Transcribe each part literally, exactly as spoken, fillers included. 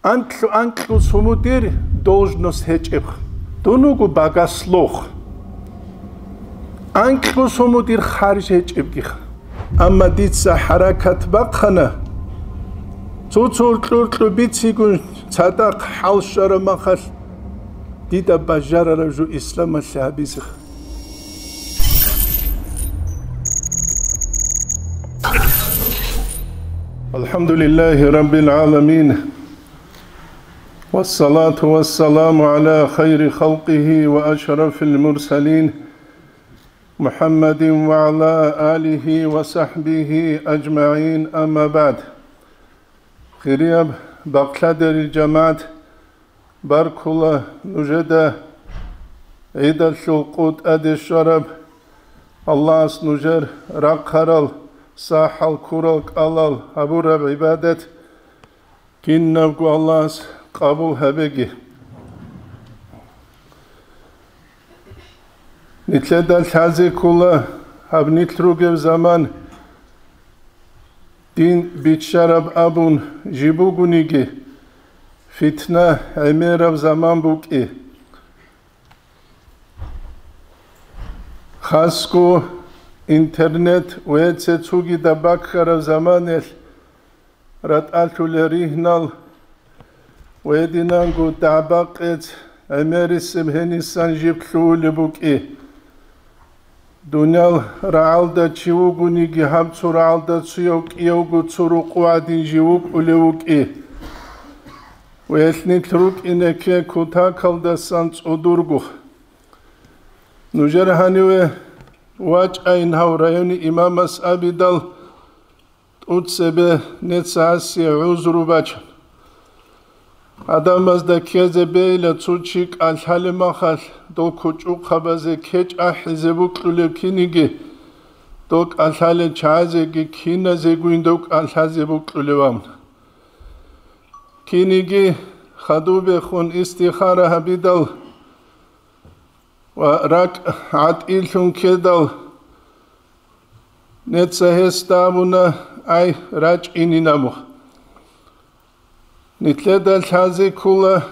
Анкьу-анкьу сумудир должность гьечӀеб. Дун вуго богослов. Анкьу сумудир харж гьечӀебгиха. Амма дица хӀаракат бахъана, цо-цо уркьу-уркьу бицигун цадахъ хӀал щвараб махалъ, дида бажарараб жо исламалъе гьабизеха. الحمد لله رب العالمين، والصلاة والسلام على خير خلقه وأشرف المرسلين، محمد وعلى آله وصحبه أجمعين، أما بعد. Хирияб бакълъадерил жамагӀат, баркула нужеда гӀидалъул къо тӀаде щвараб, Аллагьас нужер рахъарал, сахӀал, ккурал кӀалал гьабураб гӀибадат кинабго Аллагьас къабул гьабеги. Нилъеда лъазе ккола гьаб нилъ ругеб заман, дин биччараб абун жиб бугониги, фитна гӀемераб заман букӀи. Хасго интернет ва цо-цогидаб баккараб заманалъ ратӀалъулел ригьнал ва гьединанго дагӀба-къец гӀемерисеб гьенисан жиб лъугьулеб букӀи. Дуниял рагӀалда чи вугониги, гьаб цо рагӀалда цояв кӀиявго цо рукъу гӀадин жив вукӀулев вукӀи. Ва гьелъ нилъ рукӀине кке кутакалдасан цӀодорго. Нужер гьаниве вачӀайин гьав райони имамас абидал, тӀуцебе нецасе гӀузру бачун. Гьадамазда ккезе бейила цо чи кӀалъалеб махалъ, дол кучӀухъабазе кечӀ ахӀизе букьулев киниги, дол кӀалъалел чагӀазеги киназегойин дов кӀалъазе букьулев абун. Киниги хадубехун истихара гьабидал, ва ракӀ гӀатӀилъун ккедал, неца гьесда абуна: «Ай, рачӀинин», – абу. Нилъеда лъазе ккола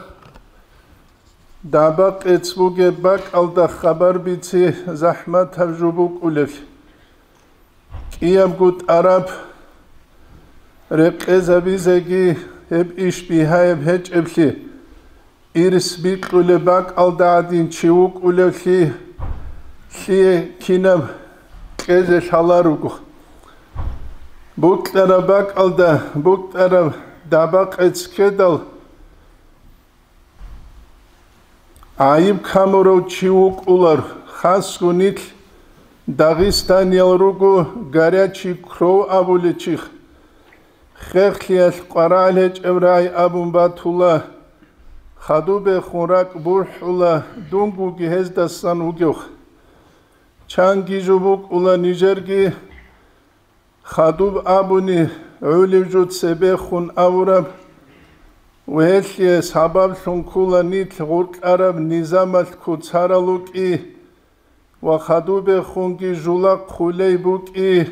дагӀба-къец бугеб бакӀалда хабар бици захӀматаб жо букӀулеб. КӀиябго тӀараб рекъезабизеги гьеб иш бигьаяб гьечӀеблъи, ирс бикьулеб бакӀалда гӀадин чи вукӀулевлъи, лъие кинаб кьезе лъаларого. Букьараб бакӀалда букьараб дагӀба-къец ккедал, гӀайиб камурав чи вукӀулар, хасго нилъ дагъистаниял руго, горячий кровь абулев чи. Хехлъиялъ къварагӀел гьечӀеб рагӀи абун батула, хадубехун ракӀ бухӀула, дунгоги гьездасан вугев. Чанги жо букӀула нижерги, хадуб абуни гӀолеб жо цебехун авураб, ва гьелъие сабаблъун ккола нилъ гъоркьараб низамалъ куцарал рукӀи ва хадубехунги жула хъулей букӀи,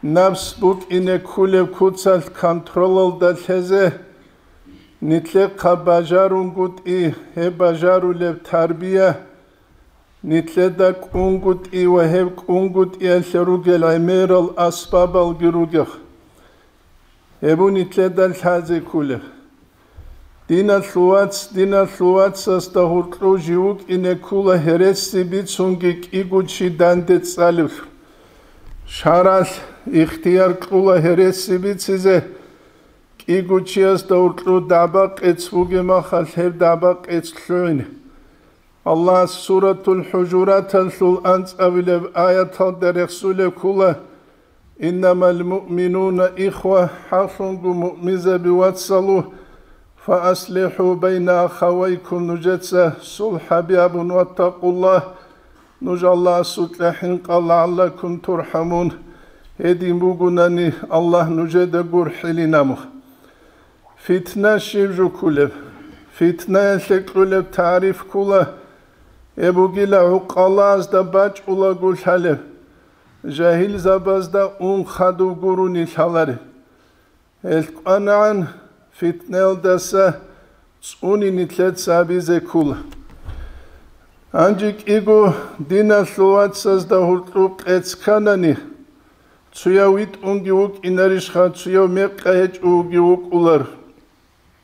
напс букӀине кколеб куцалъ контролалда лъезе. Нилъехъа бажарунгутӀи гьеб бажарулеб тарбия, нилъеда кӀунгутӀи ва гьеб кӀунгутӀиялъе ругел гӀемерал асбабалги ругел. Гьеб нилъеда лъазе кколеб. Диналъул вац, диналъул вацасда гьоркьов жив вукӀине ккола гьереси бицунги кӀиго чи данде цӀалевлъун. ШаргӀалъ ихтияр кьула гьереси бицизе, кӀиго чиясда гьоркьов дагӀба-къец бугеб махалъ гьеб дагӀба-къец лъугӀине. Аллагьас Суратул ХӀужураталъул анцӀабилеб аяталда рехсулеб ккола: «Иннамал муъминуна ихва», хӀакълъунго муъминзаби вацалу, «фааслихӀу байна ахавайкум», нужеца сулхӀаби абун, «ваттакъуллагь», нуж Аллагьасукьа хӀинкъа, «лагӀаллакум турхӀамун», гьедин бугунани Аллагь нужеда гурхӀилин абун. Фитна щиб жо кколеб? Фитнаялъе кьолеб тариф ккола, гьеб бугила гӀукъалазда бачӀулаго лъалеб, жагьилзабазда ун хадуб гурони лъалареб. Гьел кӀванагӀан фитнаялдаса цӀуни нилъеца абизе ккола. Гьанже кӀиго диналъул вацазда гьуркьу къец кканани, цуяв витӀунги вукӀинарищха, цуяв мекъа гьечӀоги вукӀулар.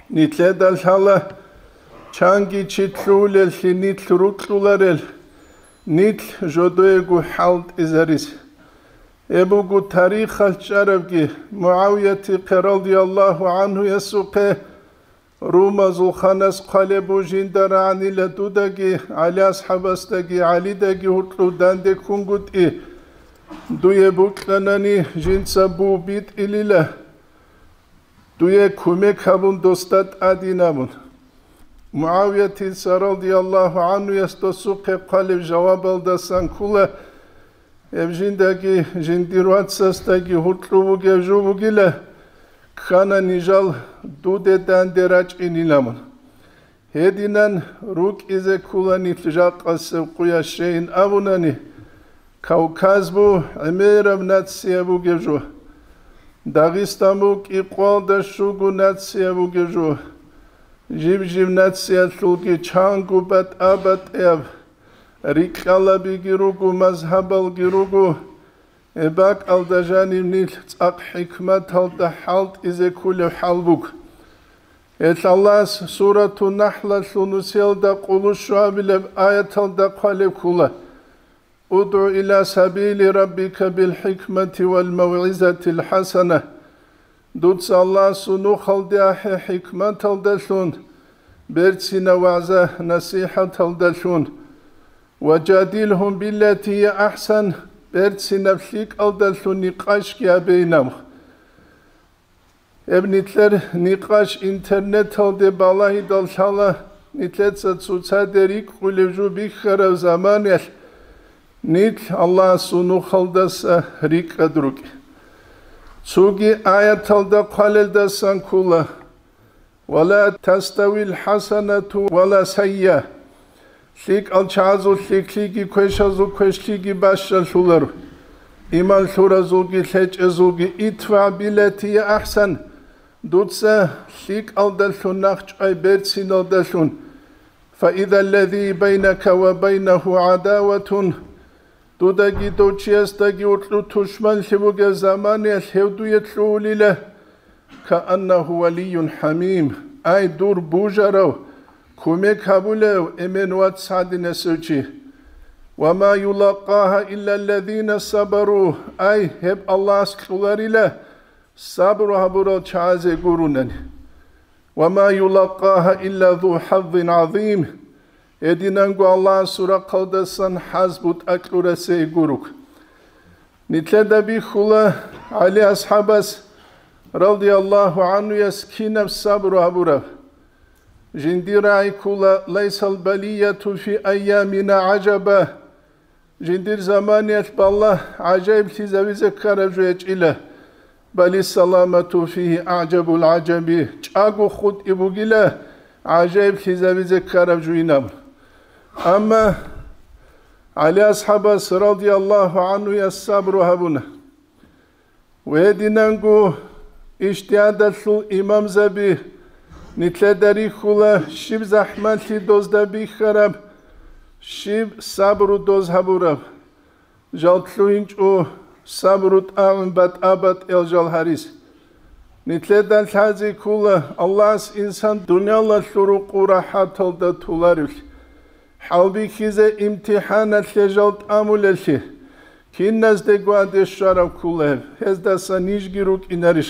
Нилъеда лъала чанги чи лъугьулеллъи нилъ рукьуларел, нилъ жодоего хӀалтӀизарис. Гьеб буго тарихалъ чӀарабги, МугӀавиятихъе радияллагьу гӀанхуясухъе, румазул ханас хъвалеб бу жинда рагӀанила дудаги, ГӀали асхӀабасдаги, ГӀалидаги гьуркьув данде ккунгутӀи, дуе букьанани жинца бу битӀилила. Дуе кумек гьабун, досда тӀадин абун. МугӀавиятица радияллагьу гӀанхуяс досухъе хъвалеб жавабалдасан ккола, гьеб жиндаги жиндир вацасдаги гьуркьу бугев жо бугила, ккана нижал дуде данде рачӀинилан абун. Гьединан рукӀизе ккола нилъ жакъасеб къуя щейин абунани, Кавказ бу гӀемераб нация бугеб жо. Дагъистан бу кӀикъоялда щуго нация бугеб жо. Жиб-жиб нациялъулги чанго батӀа-батӀияб рикьалабиги руго, мазгьабалги руго. Гьеб бакӀалда жаниб нилъ цӀакъ хӀикматалда хӀалтӀизе кколеб хӀал буго. Гьелъ Аллагьас Суратун-Нахлалъул нусиялда къулущуабилеб аяталда хъвалеб ккола: «УдгӀу иля сабили раббика бил хӀикмати вал мавгӀизатил хӀасана». Дуца Аллагьасул нухалде ахӀе хӀикматалдалъун, берцинаб вагӀза-насихӀаталдалъун, «ва жадилгьум биллати гьия ахӀсан», берцинаб лъикӀалдалъун никъашги гьабейин абун. Гьеб нилъер никъаш интернеталде балагьидал лъала, нилъеца цоцаде рикӀкӀулеб жо бихьараб заманаялъ нилъ Аллагьасул нухалдаса рикӀкӀад рукӀ. Цоги аяталда хъвалелдасан ккола: «Ва ла таставил хӀасанату ва ла сайя». ЛъикӀал чагӀазул лъикӀлъиги квешазул квешлъиги бащалъуларо. Иман лъуразулги лъечӀезулги: «Идфа биллати гьия ахӀсан», дуца лъикӀалдалъун нахчӀвай берциналдалъун, «фа иза ллази байнака ва байнагьу гӀадаватун», дудаги дов чиясдаги гьуркьу тушманлъи бугеб заманаялъ гьев дуе лъугьулила, «кааннагьу валийюн хӀамим», ай, дур бужарав, кумек гьабулев эмен вац гьадинасев чи. «Ва ма юлаккагьа илла ллазина сабару», ай, гьеб Аллагьас кьоларила сабру гьабурал чагӀазе гурунани. «Ва ма юлаккагьа илла зу хӀаззин гӀазим», гьединанго Аллагьасул рахъалдасан хӀаз бутӀа кьурасе гурук. Нилъеда бихьула ГӀали асхӀабас, радияллагьу гӀанхуяс, кинаб сабру гьабураб. Жиндир рагӀи ккола: «Лайсал балияту фи айямина гӀажаба». Жиндир заманиялъ балла гӀажаиблъизавизе ккараб жо гьечӀила. «Бали саламату фигьи аъжабул гӀажаби», чӀаго хутӀи бугила гӀажаиблъизавизе ккараб жуйнаб. Амма ГӀали асхӀабас, радияллагьу гӀанхуяс, сабру гьабуна. Гьединанго ижтигьадалъул имамзаби нилъеда рихьула, щиб захӀмалъи дозда бихьараб, щиб сабру доз гьабураб. Жал лъугьинчӀо сабру тӀагӀун батӀа-батӀиял жал гьарис. Нилъеда лъази ккола Аллагьас инсан дуниялалъул рукъу рахӀаталда толаревлъи, хӀалбихьизе имтихӀаналъе жал тӀамулеллъи, киназде гваде щвараб ккола гьеб, гьездаса нижги рукӀинарищ?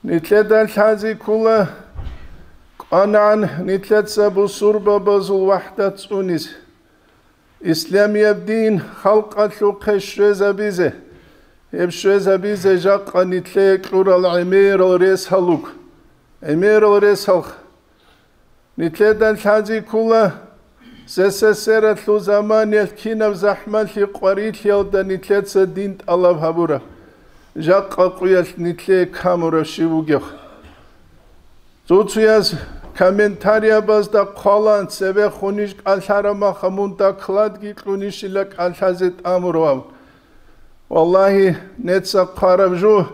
Нилъеда лъази ккола кӀванагӀан нилъеца бусурбабазул вахӀдат цӀунис. Исламияб дин халкъалъухъе щвезабизе, гьеб щвезабизе жакъа нилъее кьурал гӀемерал рес гьалуг, гӀемерал рес гьалх. Нилъеда лъази ккола, СССР-алъул заманиялъ кинаб захӀмалъи къварилъиялда нилъеца дин тӀалаб гьабураб, жакъа къуялъ нилъее камураб щиб бугеб. Цо-цояз комментариябазда хъвалан, цебехун иш кӀалъараб маха мун докладги кьунищила кӀалъазе тӀамуравав. Валлагьи, неца хъвараб жо,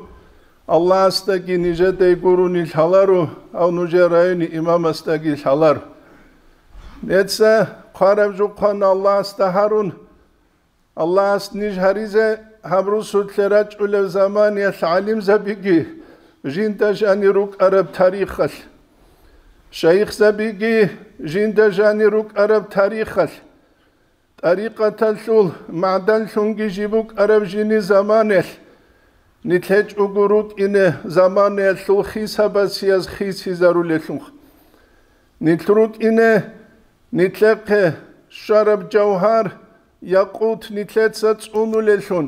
Аллагьасдаги нижедай гурони лъаларо, гьав нужер райони имамасдаги лъаларо. Нижеца хъвараб жо хъвана Аллагьасда гьарун, Аллагьас ниж гьаризе гьаб русулъе рачӀунеб заманиялъ гӀалимзабиги жинда жанир рукӀараб тарихалъ, шайихзабиги жинда жанир рукӀараб тарихалъ, тӀарикъаталъул магӀданлъунги жиб букӀараб жини заманиялъ, нилъ гьечӀого рукӀине заманиялъул хисабасияз хисизарулелъул. Нилъ рукӀине нилъехъе щвараб жавгьар, якъут нилъеца цӀунулелъул,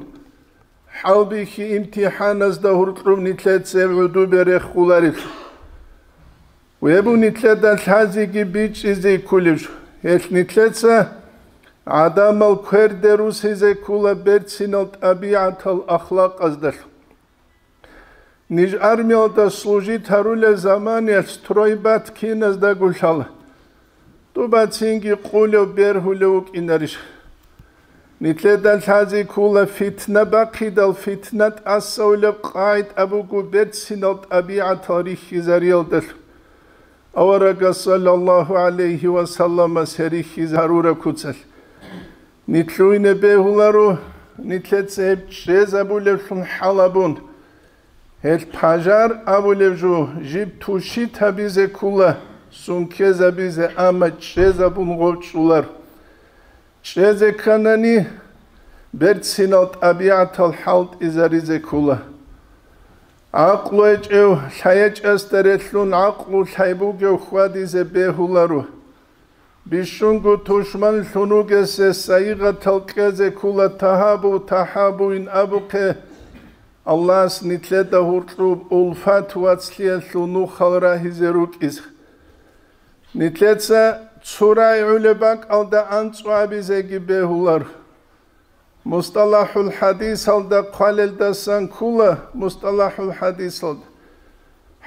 хӀалбихьи имтихӀаназда гьоркьоб нилъеца гьеб гӀодобе рехуларелъул. Гьеб нилъеда лъазеги бичӀчӀизе кколеб жо, гьелъ нилъеца гӀадамал кверде русизе ккола берцинал тӀабигӀатал ахлакъаздалъун. Ниж армиялда служить гьарулел заманиялъ стройбат киназдаго лъала. ТӀубацинги къулев бергьулев вукӀинарищ? Нилъеда лъазе ккола фитна бахъидал, фитна тӀасавулеб къагӀида буго берцинал тӀабигӀатал рихьизариялдалъун. Аварагас саллаллагьу гӀалайгьи ва салламас гьерихьиз гьарураб куцалъ. Нилъуйне бегьуларо, нилъеца гьеб чӀезабулевлъун хӀалабун. Гьел пажар абулев жо жиб тушит гьабизе ккула, сункезабизе, амма чӀезабун гъоркьулар. ЧӀезе кканани, берцинал тӀабигӀатал хӀалтӀизаризе ккула. ГӀакълу гьечӀев лъайгьечӀасда релълъун гӀакълу лъай бугев хьвадизе бегьуларо. Бищунго тушманлъун вугесе сайигъатал кьезе ккула тагьабу, тахӀабуин абухъе, Аллагьас нилъеда гьоркьоб улфат вацлъиялъул нухал рагьизе рукӀизе. Нилъеца цо рагӀи гӀолеб бакӀалда анцӀго абизеги бегьулар. МустӀалахӀул хӀадисалда хъвалелдасан ккула, мустӀалахӀул хӀадисалда.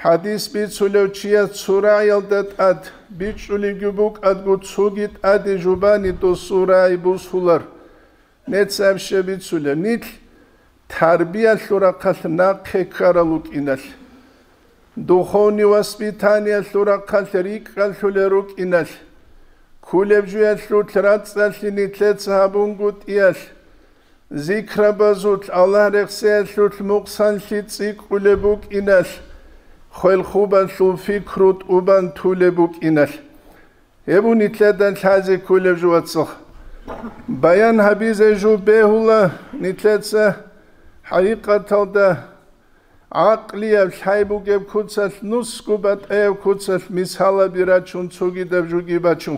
ХӀадис бицулев чияс цо рагӀиялда тӀад бичӀчӀулевги букӀадго, цоги тӀаде жубани досул рагӀи бусулар. Нецаб щиб бицулеб? Нилъ тарбиялъул рахъалъ нахъе ккарал рукӀиналъ, духовный воспитаниялъул рахъалъ рикӀкӀалъулел рукӀиналъ, кколеб жуялъулъ рацӀцӀалъи нилъеца гьабунгутӀиялъ, зикрабазулъ, Аллагь рехсеялъулъ мукъсанлъи цӀикӀкӀулеб букӀиналъ, хвел-хубалъул пикру тӀубан тулеб букӀиналъ. Гьеб нилъеда лъазе кколеб жо, вацал. Баян гьабизе жо бегьула нилъеца хӀакъикъаталда гӀакълияб лъай бугеб куцалъ, нусго батӀаяб куцалъ мисалаби рачун, цогидаб жоги бачун.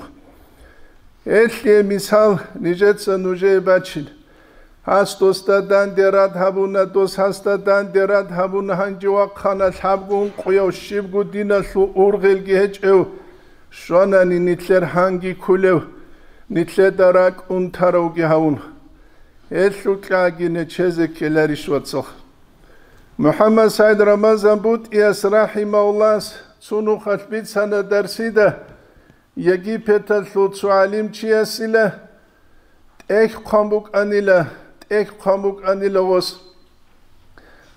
Гьелъие мисал нижеца нужее бачина. Гьас досда данде рад гьабуна, дос гьасда данде рад гьабуна, гьанже вахъана лъабго ункъояв, щибго диналъул ургъелги гьечӀев, щванани нилъер гьанги кколев, нилъеда ракӀ унтаравги гьавун. Гьелъул кьаги нечезе ккеларищ, вацал? МухӀаммад СагӀид Рамазан БутӀияс рахӀимагьуллагьас цо нухалъ бицана дарсида, Египеталъул цо гӀалимчиясила тӀехь хъван букӀанила, тӀехь хъван букӀанила гъос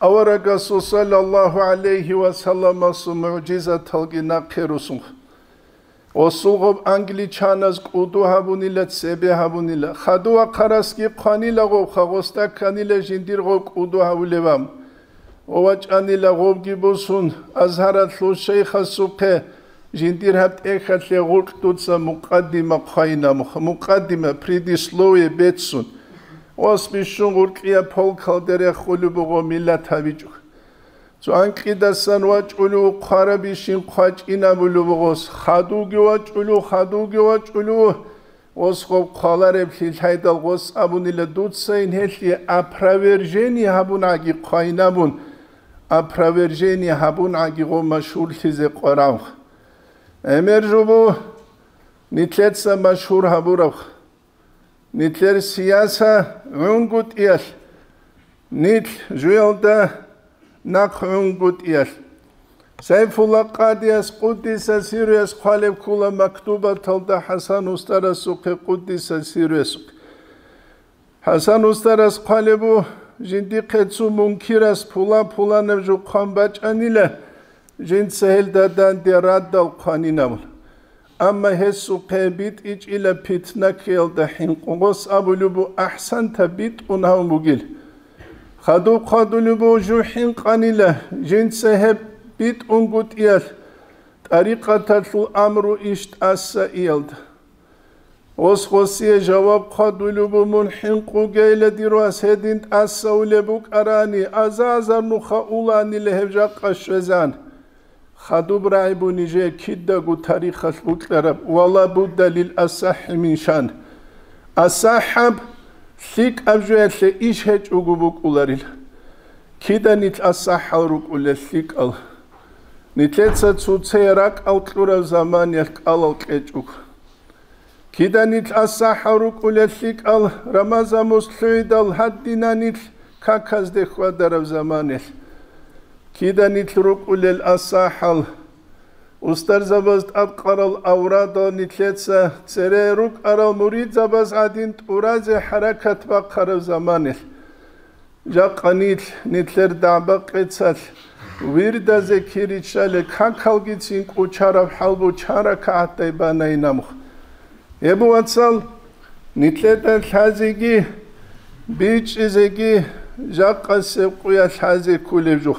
аварагасул саллаллагьу гӀалайгьи ва салламасул мугӀжизаталги нахъе русун. Гъосул гъоб англичаназ кӀуду гьабунила, цебе гьабунила. Хадув вахъарасги хъванила гъобха, гъосда кканила жиндир гъоб кӀуду гьавулеб ам. Ва вачӀанила гъобги бусун, Азгьаралъул шейхасухъе жиндир гьаб тӀехьалъе гъоркь дуца мукъаддима хъвайина, мукъаддима, предисловие бецун. Гъос бищун гъоркьияб полкалде рехулеб буго, миллат гьабичӀо. Цо анкьидасан вачӀулев хъварабищин хъвачӀинабулеб буго гъос, хадувги вачӀулев, хадувги вачӀулев. Гъос гъоб хъвалареблъи лъайдал гъос абунила, дуцайин гьелъие опровержение гьабун гӀаги хъвайин абун, опровержение гьабун гӀаги гъо машгьурлъизе къварав. ГӀемер жубу нилъеца машгьур гьабурав. Нилъер сияса гӀунгутӀиялъ, нилъ жуялда нахъ гӀунгутӀиялъ. Сайфулла Къадияс, къуддиса сирруяс, хъвалеб ккола мактубаталда ХӀасан устарасухъе, къуддиса сирруясухъе. ХӀасан устарас хъвалеб бу, Жиндихъе цо мункирас пулан-пуланаб жо хъван бачӀанила, жинца гьелда данде радал хъванинабун. Амма гьесухъе битӀичӀила питна ккеялда хӀинкъугъос абулеб бу ахӀсанта битӀун гьавун бугил. Хадуб хъвадулеб бу жу хӀинкъанила, жинца гьеб битӀунгутӀиялъ тӀарикъаталъул амру иш тӀаса иялда. Гъос гъосие жаваб хъвадулеб бу мун хӀинкъугейла дир вас гьедин тӀасаулеб букӀарани, аза-азар нуха уланила гьеб жакъа щвезан. Хадуб рагӀи бу нижее кидаго тарихалъ букьараб, ва ла будда лил асахӀи мин шан. АсахӀаб лъикӀаб жоялъе иш гьечӀого букӀуларил. Кида нилъ асахӀал рукӀулел лъикӀал? Нилъеца цоцее ракӀал кьураб заманиялъ кӀалал кьечӀого. Кида нилъ асахӀал рукӀулел лъикӀал, Рамазан мос лъугӀидал гьадина нилъ каказде хьвадараб заманиялъ. Кида нилъ рукӀулел асахӀал, устарзабаз тӀадкъарал аврадал нилъеца цере рукӀарал муридзабаз гӀадин тӀуразе хӀаракат бахъараб заманиялъ. Жакъа нилъ, нилъер дагӀба-къецалъ, вирдазе киричӀале какалгицин кӀучараб хӀал бу чан ракагӀатдай банайин амх. Гьеб, вацал, нилъеда лъазеги, бичӀчӀизеги, жакъасеб къуялъ лъазе кколеб жо.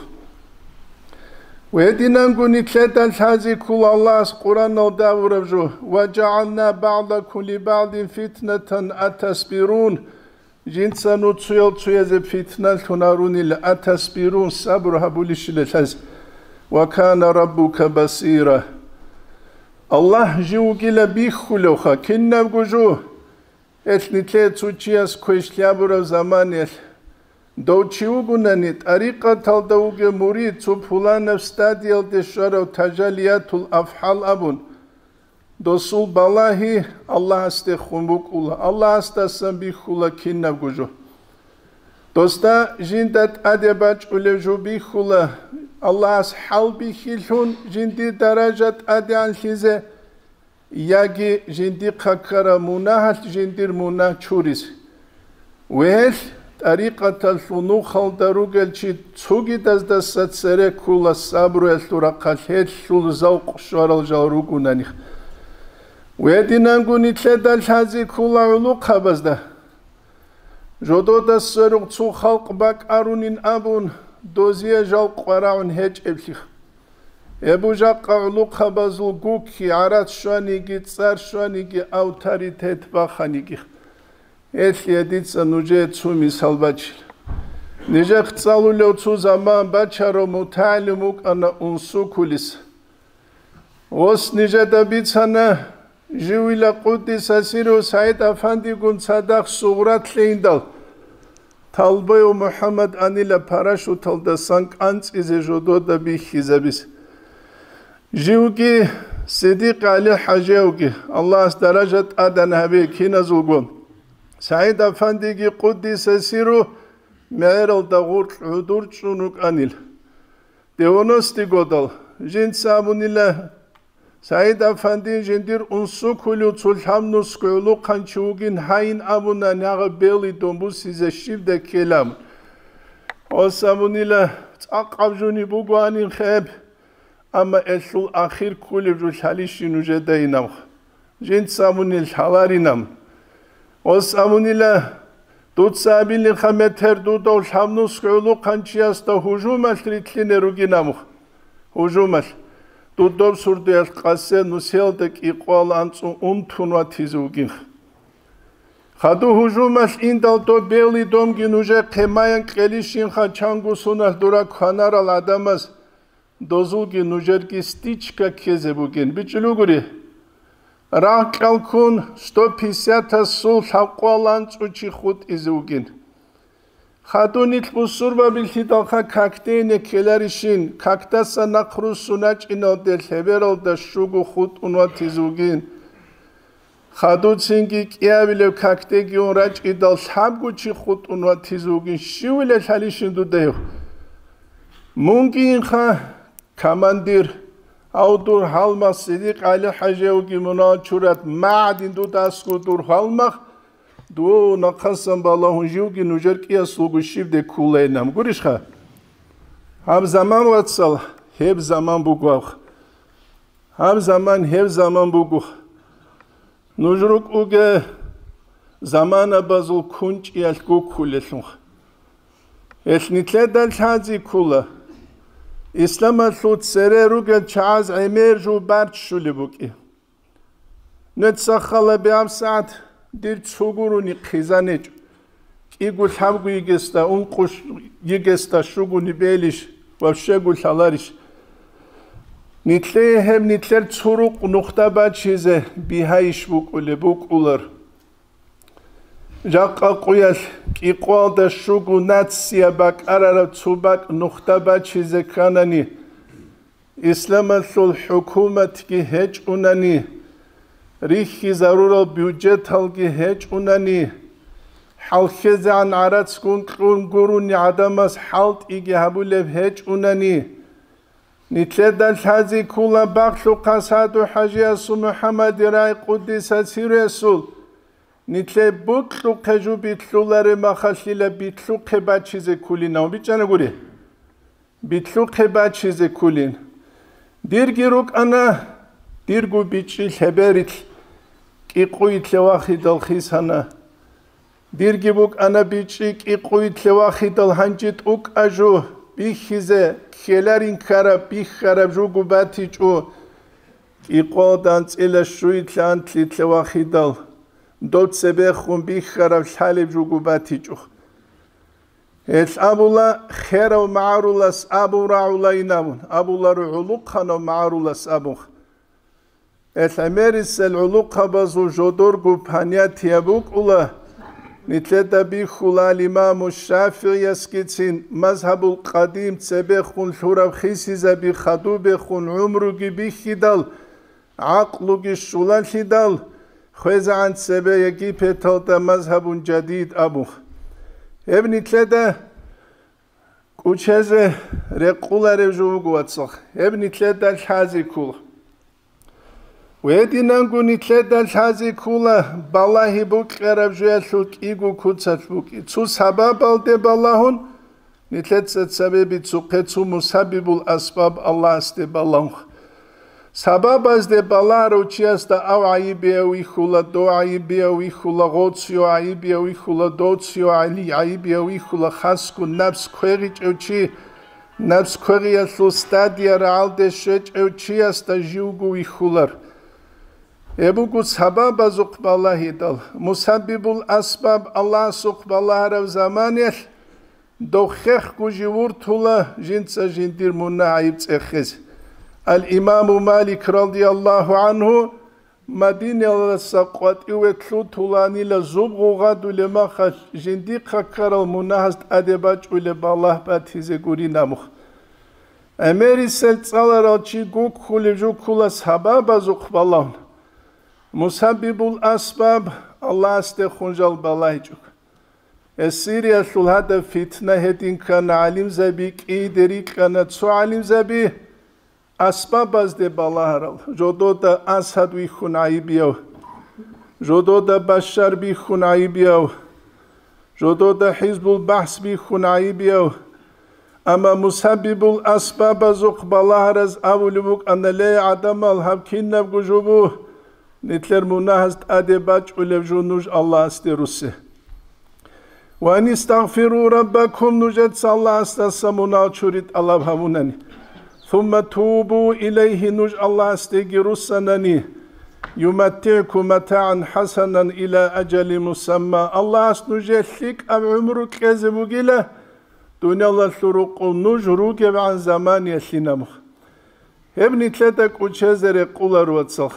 Гьединанго нилъеда лъазе ккола Аллагьас Къураналда абураб жо: «Ва жагӀална багӀдакум ли багӀдин фитнатан атасбирун». Жинца нуцуял цуязе питналъун гьарунила, атасбирун, сабру гьабулищила лъаз. «Ва кана раббука басира». Аллагь жив вугила бихьулевха кинабго жо. Гьелъ нилъее цо чияс квеш лъабураб заманиялъ, дов чи вугунани, тӀарикъаталда вугев мурид цо пуланаб стадиялде щварав тажалиятул афгӀал абун, досул балагьи Аллагьасдехун букӀула, Аллагьасдасан бихьула кинабго жо. Досда жинда тӀаде бачӀулев жо бихьула, Аллагьас хӀалбихьилъун жиндир даража тӀадегӀанлъизе, яги жиндихъа ккараб мунагьалъ жиндир мунагь чуризе. Гьелъ тӀарикъаталъул нухалда ругел чи цогидаздаса цере ккула сабруялъул рахъалъ гьелъул завкъ щварал жал ругунани. Гьединанго нилъеда лъазе ккула гӀулухъабазда. Жодода сверухъ цо халкъ бакӀарунин абун, дозие жал къварагӀун гьечӀеблъи. Гьеб жакъа гӀулухъабазул гукки, гӀарац щваниги, цӀар щваниги, авторитет баханиги. Гьелъие дица нужее цо мисал бачила. Нижехъ цӀалулев цо заман бачарав мутагӀалим вукӀана Унсукулис. Гъос нижеда бицана, живила къуддиса сирру СагӀид-Афандигун цадахъ сугърат лъейиндал, Талбоев МухӀаммад анила парашюталдасан кӀанцӀизе жодода бихьизабизе. Живги, Сидикъ ГӀали-хӀажиевги, Аллагьас даража тӀадегӀан гьабе киназулго, СагӀид-Афандиги къуддиса сирру мегӀералда гъоркь гӀодор чӀун рукӀанил. Девяностый годал жинца абунила, СагӀид-Афандин жиндир Унсукулив цо лъабнусго гӀулухъанчи вугин гьайин абуна, нагъа Белый дом бусизе щибдай ккелаб. Гъос абунила, цӀакъаб жони бугоанин хеб, амма элъул ахир кколеб жо лъалищин нужедайинаб. Жинца абунил лъаларинаб. Гъос абунила, дуца абилинха метер дудав лъабнусго гӀулухъанчиясда гьужумалъ рилълъине ругинаб. Гьужумалъ. Дудаб сурдуялъ къасе нусиялда кӀикъоялда анцӀу унтун ватизе вугин. Хаду гьужумалъ индал доб Белый домги нужехъе маян кьелищинха чанго соналъ дура кванарал гӀадамаз. Дозулги нужерги стичка ккезе бугин. БичӀчӀулугури, рагъ кьалккун сто пятьдесятасул лъабкъоялда анцӀу чи хутӀизе вугин. Хадур нилъ бусурбабилъидалха какде ине ккеларищин, какдаса нахъ руссун рачӀиналде лъебералда щуго хутӀун ватизе вугин. Хадуцинги кӀиабилеб какдеги ун рачӀидал лъабго чи хутӀун ватизе вугин, щивила лъалищин дуда гьев? Мунги инха, командир, гьав дур гьалмагъ Сидикъ ГӀали-хӀажиевги мунагьал чурат магӀадин дуда аскӀов дур гьалмагъ, Дов нахъасан балагьун живги нужер кӀиясулго щибде ккулайилан. Гурищха? Гьаб заман, вацал, гьеб заман буго. Гьаб заман гьеб заман буго. Нуж рукӀуге заманабазул кунчӀиялъ гуккулелъунха. Гьелъ нилъеда лъази ккула, исламалъул цере ругел чагӀаз гӀемер жо барччулеб букӀи. Нецахъала бегӀаб сагӀат дир цо гурони хъизан гьечӀо. КӀиго лъабго йигесда, ункъо йигесда щугони бегьилищ ва щего лъаларищ? Нилъее гьеб нилъер цо рукъ нухда бачизе бигьайищ букӀулеб букӀулар. Жакъа къуялъ кӀикъоялда щуго нация бакӀарараб цо бакӀ нухда бачизе кканани, исламалъул хӀукуматги гьечӀунани, рихьизарурал бюджеталги гьечӀунани, хӀалхьезегӀан гӀарацгун кьун гурони гӀадамаз хӀалтӀиги гьабулеб гьечӀунани, нилъеда лъази ккула бахлъухъа Саду-ХӀажиясул МухӀаммадил рагӀи къуддиса сирругьу. Нилъее бокьухъе жо билълъулареб мехалъила билълъухъе бачизе ккулин, бичӀчӀанагури. Билълъухъе бачизе ккулин. Дирги рукӀана, дирго бичӀчӀи лъеберилъ кӀикъуй лъевахидал хисана. Дирги букӀана бичӀчӀи кӀикъуй лъевахидал гьанже тӀукӀа жо бихьизе, ккеларин ккараб, бихьараб жого батичӀо. КӀикъоялда анцӀила щуй лъантлъи лъевахидал, дов цебехун бихьараб лъалеб жого батичӀо. Гьелъ абула, херав магӀарулас абун рагӀулайин абун, абуларо гӀолохъанав магӀарулас абун. Гьелъ гӀемерисел гӀолохъабазул жодорго понятие букӀула, нилъеда бихьула ал-Имаму ШафигӀиясгицин, мазгьабул къадим цебехун лъураб хисизаби хадубехун гӀумруги бихьидал, гӀакълуги щулалъидал, хвезегӀан цебе Египеталда мазгьабун жадид абун. Гьеб нилъеда кӀучезе рекъуларев жо вуго, вацал, гьеб нилъеда лъази ккула. Гьединанго нилъеда лъази ккула балагьи букьараб жоялъул кӀиго куцалъ букӀи. Цо сабабалде балагьун, нилъеца цебе бицухъе цо мусаббибул асбаб Аллагьасде балагьун. Сабабазде балагьарав чиясда ав гӀайибияв вихьула, дов гӀайибияв вихьула, гъоцияв гӀайибияв вихьула, доцияв гӀайибияв вихьула, хасго напс квегъичӀев чи, напс квегъиялъул стадия рагӀалде щвечӀев чиясда живго вихьулар. Гьеб буго сабабазухъ балагьидал, мусаббибул асбаб Аллагьасухъ балагьараб заманиялъ, дов хехго жив вуртула жинца жиндир мунагь-гӀайиб цӀехезе. Ал-Имаму Малик радияллагьу гӀангьу Мадинаялдаса къватӀиве лъутуланила зуб гъугъадулеб мехалъ жиндихъа ккарал мунагьаз тӀаде бачӀулеб балагь батизе гурин абун. ГӀемерисел цӀаларал чи гуккулев жо ккула сабабазухъ балагьун. Мусаббибул асбаб Аллагьасдехун жал балагьичӀого. Сириялъул гьадаб фитна гьедин ккана, гӀалимзаби кӀийде рикӀкӀана, цо гӀалимзаби асбабазде балагьарал, жодода Асад вихьун гӀайибияв, жодода Башшар бихьун гӀайибияв, жодода ХӀизбул БагӀс бихьун гӀайибияв. Амма мусаббибул асбабазухъ балагьараз абулеб букӀана: ле, гӀадамал, гьаб кинабго жо буго, нилъер мунагьаз тӀаде бачӀулеб жо нуж Аллагьасде руссе. Ва ан истагъфиру раббакум, нужеца Аллагьасдаса мунагь чури тӀалаб гьабунани. Сумма тубу илайгьи, нуж Аллагьасдеги руссанани, юматтигӀкум матагӀан хӀасанан ила ажали мусамма, Аллагьас нужее лъикӀаб гӀумру кьезе бугила, дуниялалъул рукъу нуж ругебгӀан заманиялъин абун. Гьеб нилъеда кӀучезе рекъулар, вацал.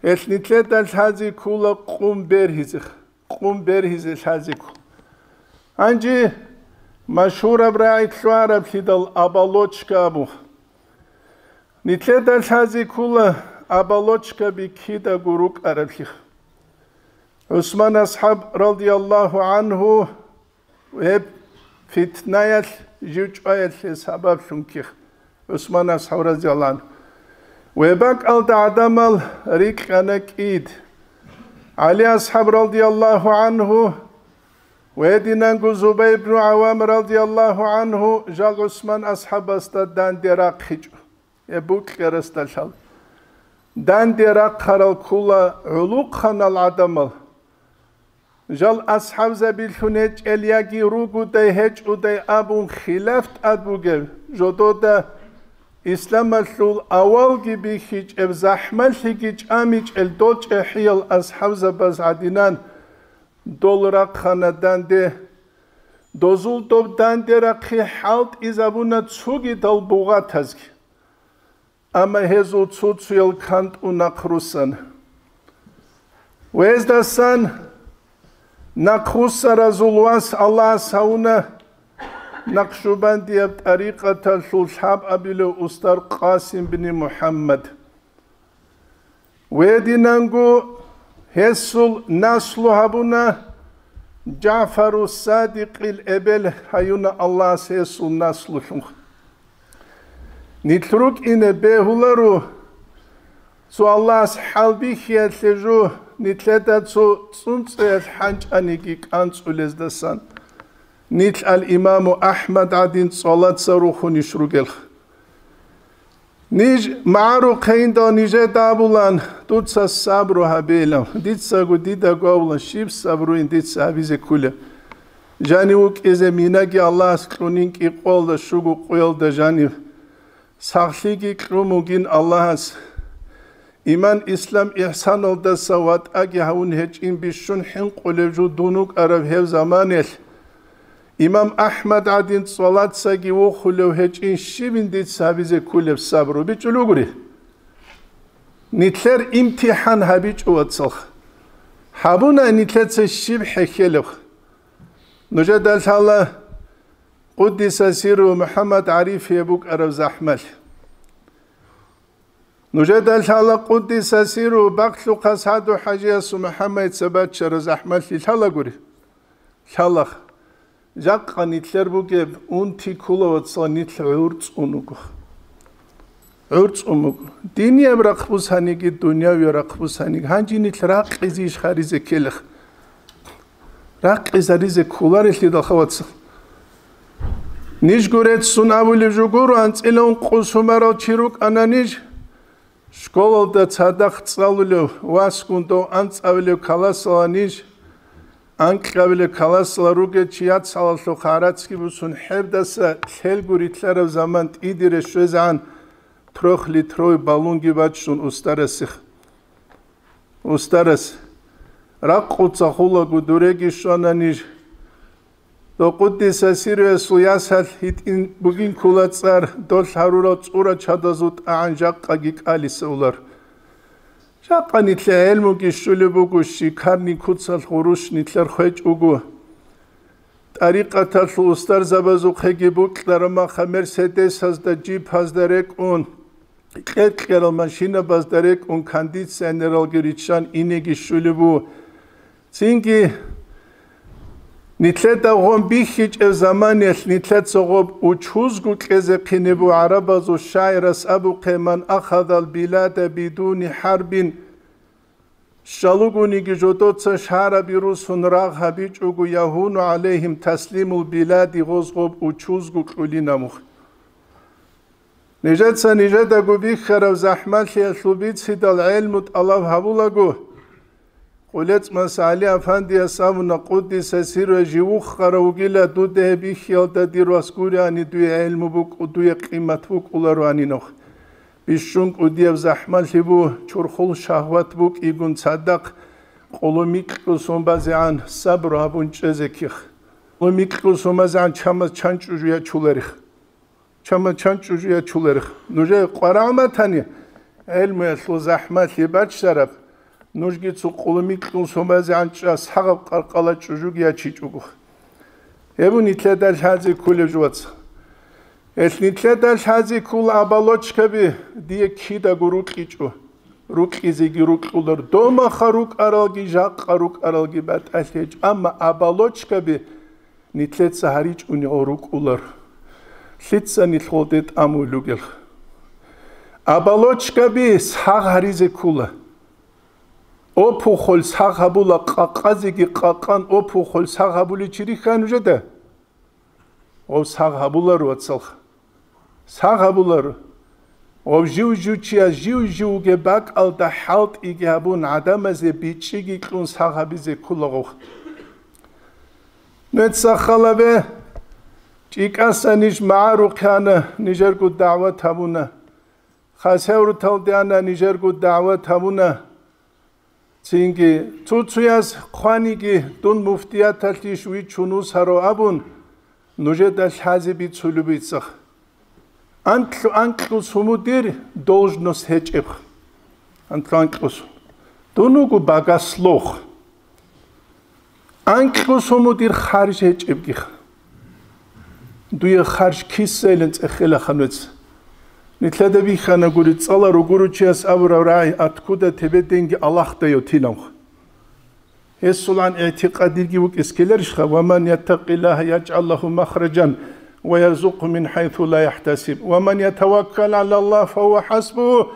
Гьелъ нилъеда лъази ккула къум бергьизех, къум бергьизе лъази ккула. Гьанже машгьураб рагӀи лъугӀараблъидал оболочка абун. Нилъеда лъази ккула оболочкаби кидаго рукӀараблъи. ГӀусман асхӀаб радияллагьу гӀангьу гьеб фитнаялъ жив чӀваялъе сабаблъун ккех, ГӀусман асхӀаб радияллагьу гӀангьу. Гьеб бакӀалда гӀадамал рикӀкӀана кӀид. ГӀали асхӀаб радияллагьу гӀангьу ва гьединанго Зубайр ибну ГӀаввам радияллагьу гӀангьу жал ГӀусман асхӀабасда данде рахъичӀо. Гьеб букьарасдалъал данде рахъарал ккола гӀулухъанал гӀадамал. Жал асхӀабзабилъун гьечӀел яги ругодай гьечӀодай абун хилаф тӀад бугеб, жодода исламалъул авалги бихьичӀеб, захӀмалъиги чӀамичӀел дол чӀехӀиял асхӀабзабаз гӀадинан дол рахъана данде. Дозул доб данде рахъи хӀалтӀизабуна цогидал бугъатазги. Амма гьезул цо-цоял кантӀун нахъруссана. Гьездасан нахъруссаразул вас Аллагьас гьавуна Накъшубандияб тӀарикъаталъул лъабабилев устар Къасим бни МухӀаммад. Гьединанго гьесул наслу гьабуна, ЖагӀфару Садикъил эбел гьаюна Аллагьас гьесул наслулъун. Нилъ рукӀине бегьуларо, цо Аллагьас хӀалбихьиялъе жо, нилъеда цо цӀунцӀиялъ хӀанчӀаниги кӀанцӀулездасан. Нилъ ал-Имаму АхӀмад гӀадин цӀалаца рухунищ ругелха. Ниж магӀарухъейндал нижеда абулан, дуца сабру гьабейилан, дицаго дидаго абулан, щиб сабруин дица гьабизе ккулеб? Жанив вукӀизе минаги Аллагьас кьунин кӀикъоялда щуго къоялда жанив. Сахлъиги кьун бугин Аллагьас. Иман, ислам, ихӀсаналдаса ватӀаги гьавун гьечӀин бищун хӀинкъулев жо дун вукӀараб гьев заманалъ, имам АхӀмад гӀадин цӀалацаги вохулев гьечӀин щибин дица гьабизе ккулеб сабру бичӀчӀулев гури? Нилъер имтихӀан гьабичӀо, вацалха. Гьабуна нилъеца щиб хӀехьелеб. Нужеда лъала Къуддиса сирру МухӀаммад ГӀарифие букӀараб захӀмалъи. Нужеда лъала Къуддиса сирру Бакълъухъа СагӀду ХӀажиясул МухӀаммадица баччараб захӀмалъи лъалагури? Лъалаха. Жакъа нилъер бугеб унти ккола, вацал, нилъ гӀурцӀун вуго. ГӀурцӀун вуго. Динияб рахъ бусаниги, дунявияб рахъ бусаниги. Гьанже нилъ ракъизе иш гьаризе ккелеха. Ракъизаризе кколарелъидалха, вацал. Нижго реццун абулеб жо гуро, анцӀила ункъо сумарал чи рукӀана ниж. Школалда цадахъ цӀалулев, васгун дов анцӀабилев каласала ниж, анкьабилев каласала ругел чи яцалалъухъ гӀарацги бусун, хӀебдаса лъелго рилълъараб заман тӀидере щвезегӀан трёхлитровый баллонги баччун устарасе. Устарас, ракъуца хулаго дуреги щвана ниж. Дов Къуддиса сирруясул ясалъ гьитӀин бугин ккола цӀар, долъ гьарурал цӀура чадазул тӀагӀан жакъаги кӀалисавулар. Жакъа нилъер гӀелмуги щулеб буго, щикарни куцалъ гъурущ нилъер хвечӀ вуго. ТӀарикъаталъул устарзабазухъеги букьараб маха мерседесазда, джипазда рекӀун, кьер-кьерал машинабазда рекӀун, кондиционералги риччан инеги щулеб буго. Цинги нилъеда гъон бихьичӀеб заманиялъ нилъеца гъоб учузго кьезе хъинеб буго гӀарабазул шагӀирас абухъе: «Ман ахадал билада бидуни хӀарбин», щалугониги жодоца шагьараби русун рагъ гьабичӀого, «ягьуну гӀалайгьим таслимул билади», гъоз гъоб учузго кьулинаб мух. Нижеца нижедаго бихьараб захӀмалъиялъул бицидал гӀелму тӀалаб гьабулаго, КъулецӀмас ГӀали Афандияс абуна, Къуддиса сирруяс, жив вухарав вугила, дуда гьеб бихьиялда дир вас гуриани, дуе гӀелму букӀу-, дуе къимат букӀулароани нух. Бищун кӀудияб захӀмалъи бу, чурхул шагьват букӀигун цадахъ, къулумикьлъу сон базегӀан сабру гьабун чӀезе ких. Къулумикьлъу сон базегӀан чамаз чан чӀужу ячуларих. Чамаз чан чӀужу ячуларих. Нужее къварагӀ матани, гӀелмуялъул захӀмалъи баччараб, нужги цо къулумикьлъун сон базегӀан чӀа сагъаб къаркъала чӀужуги ячичӀого. Гьеб нилъеда лъазе кколеб жо, вацал. Гьелъ нилъеда лъазе ккола оболочкаби дие кидаго рукьичӀо. Рукьизеги рукьулар, домаха рукӀаралги, жакъа рукӀаралги батӀалъи гьечӀо, амма оболочкаби нилъеца гьаричӀунигъал рукӀулар. Лъица нилъ гъолде тӀамулел ругел? Оболочкаби сагъ гьаризе ккола. Опухоль сагъ гьабула, къакъазеги къакъан опухоль сагъ гьабулев чи рихьа нужеда? Гъов сагъ гьабуларо, вацалха. Сагъ гьабуларо. Гъов жив-жив чияс жив-жив вугеб бакӀалда хӀалтӀиги гьабун, гӀадамазе бичӀчӀиги кьун сагъ гьабизе ккола гъов. Нуца халабе, чӀикӀаса ниж магӀарухъе ана, нижерго дагӀват гьабуна. Хасавюрталде ана, нижерго дагӀват гьабуна. Цинги цо-цояс хъваниги, дун муфтияталъищ вичун вусаро абун, нужеда лъазе бицулеб бицах. Анкьу-, анкьу сумудир должность гьечӀеб. Анкьу-, анкьу сум. Дун вуго богослов. Анкьу сумудир харж гьечӀебги. Дуе харж кисайилан цӀехелаха нуц. Нилъеда бихьана гури, цӀаларо гуру чияс абураб рагӀи: «Откуда тебе деньги, Аллагь даяв?» — тиланха. Гьесулан игӀтикъадиги вукӀис ккеларищха: «Ва ман яттакъиллагьа яжгӀал лагьу махражан ва ярзукъгьу мин хӀайсу ла яхӀтасиб, ва ман ятаваккал гӀалаллагь фагьува хӀасбугьу,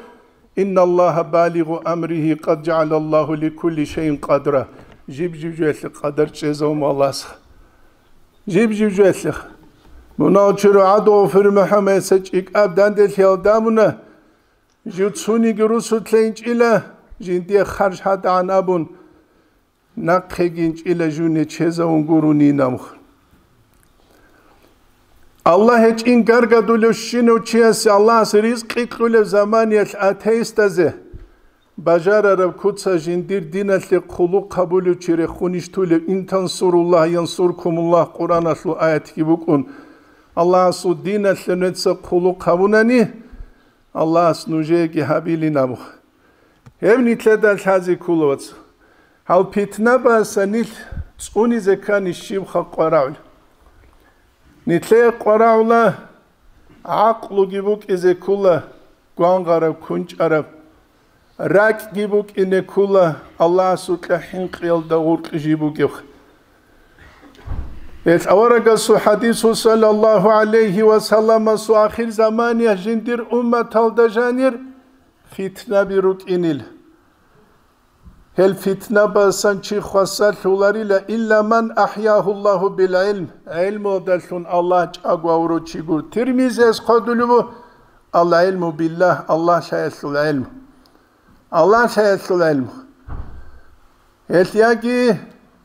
инналлагьа балигъу амригьи, къад жагӀалаллагьу ликулли шайин къадра». Жиб-жиб жоялъе къадар чӀезавун Аллагьас. Жиб-жиб жоялъе. Мунагьал чурагӀад Гъофир МухӀаммадица чӀикӀаб данделъиялда муна, жив цониги русулъейинчӀила, жиндие харж гьадагӀан абун, нахъегинчӀила жуне чезавун гурони намх. Аллагь гьечӀин гаргадулев щинав чиясе Аллагьас ризкъи кьулев заманиялъ атеистазе бажарараб куца жиндир диналъе хъулухъ гьабулев чи рехунищ тулев? «Ин тансуруллагь янсуркумуллагь» Къуръаналъул аятги букӀун. Аллагьасул диналъе нуца хъулухъ гьабунани, Аллагьас нужееги гьабилин абу. Гьеб нилъеда лъазе ккола, вац. Гьал питнабаса нилъ цӀунизе ккани щибха къварагӀул? Нилъее къварагӀула гӀакълуги букӀизе ккола, гвангъараб, кунчӀараб, ракӀги букӀине ккола, Аллагьасукьа хӀинкъиялда гъуркь жиб бугев. Гьелъ аварагасул хӀадису, саллаллагьу гӀалайгьи ва салламасу, ахир заманиялъ жиндир умматалда жанир фитнаби рукӀинил. Гьел фитнабасан чи хвасарлъуларила, илла ман ахӀягьуллагьу бил гӀилм, гӀилмудалъун Аллагь чӀаго авурав чи гур. Тирмизияс хъвадулев ву: «Ал гӀилму биллагь», Аллагь лъаялъул гӀилму. Аллагь лъаялъул гӀилму. Гьелъ яги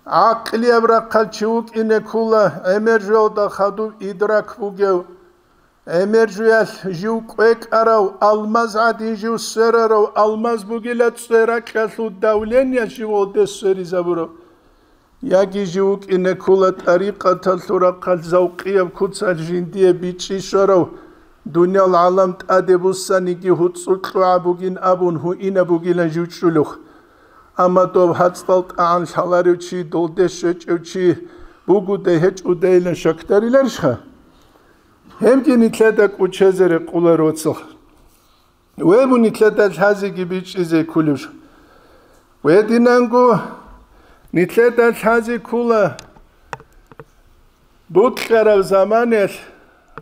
гӀакълияб рахъал чи вукӀине ккола, гӀемер жоялда хадуб идрак бугев, гӀемер жуялъ жив кӀвекӀарав, алмаз гӀадин жив сверарав, алмаз бугила цӀеракьалъул давление живалде сверизабурав. Яги жив вукӀине ккола тӀарикъаталъул рахъалъ завкъияб куцалъ жиндие бичӀчӀи щварав, дуниял гӀалам тӀаде буссаниги гьуцӀцӀу кьугӀа бугин абун гьуинаб бугилан жив чӀулев. Амма доб гьацӀал тӀагӀан лъаларев чи, долде щвечӀев чи бугодай гьечӀодайилан щакдариларищха? Гьебги нилъеда кӀучезе рекъоларо, вацал. Веб нилъеда лъазеги бичӀчӀизе кколеб жо. Гьединанго нилъеда лъазе ккола букьараб заманалъ,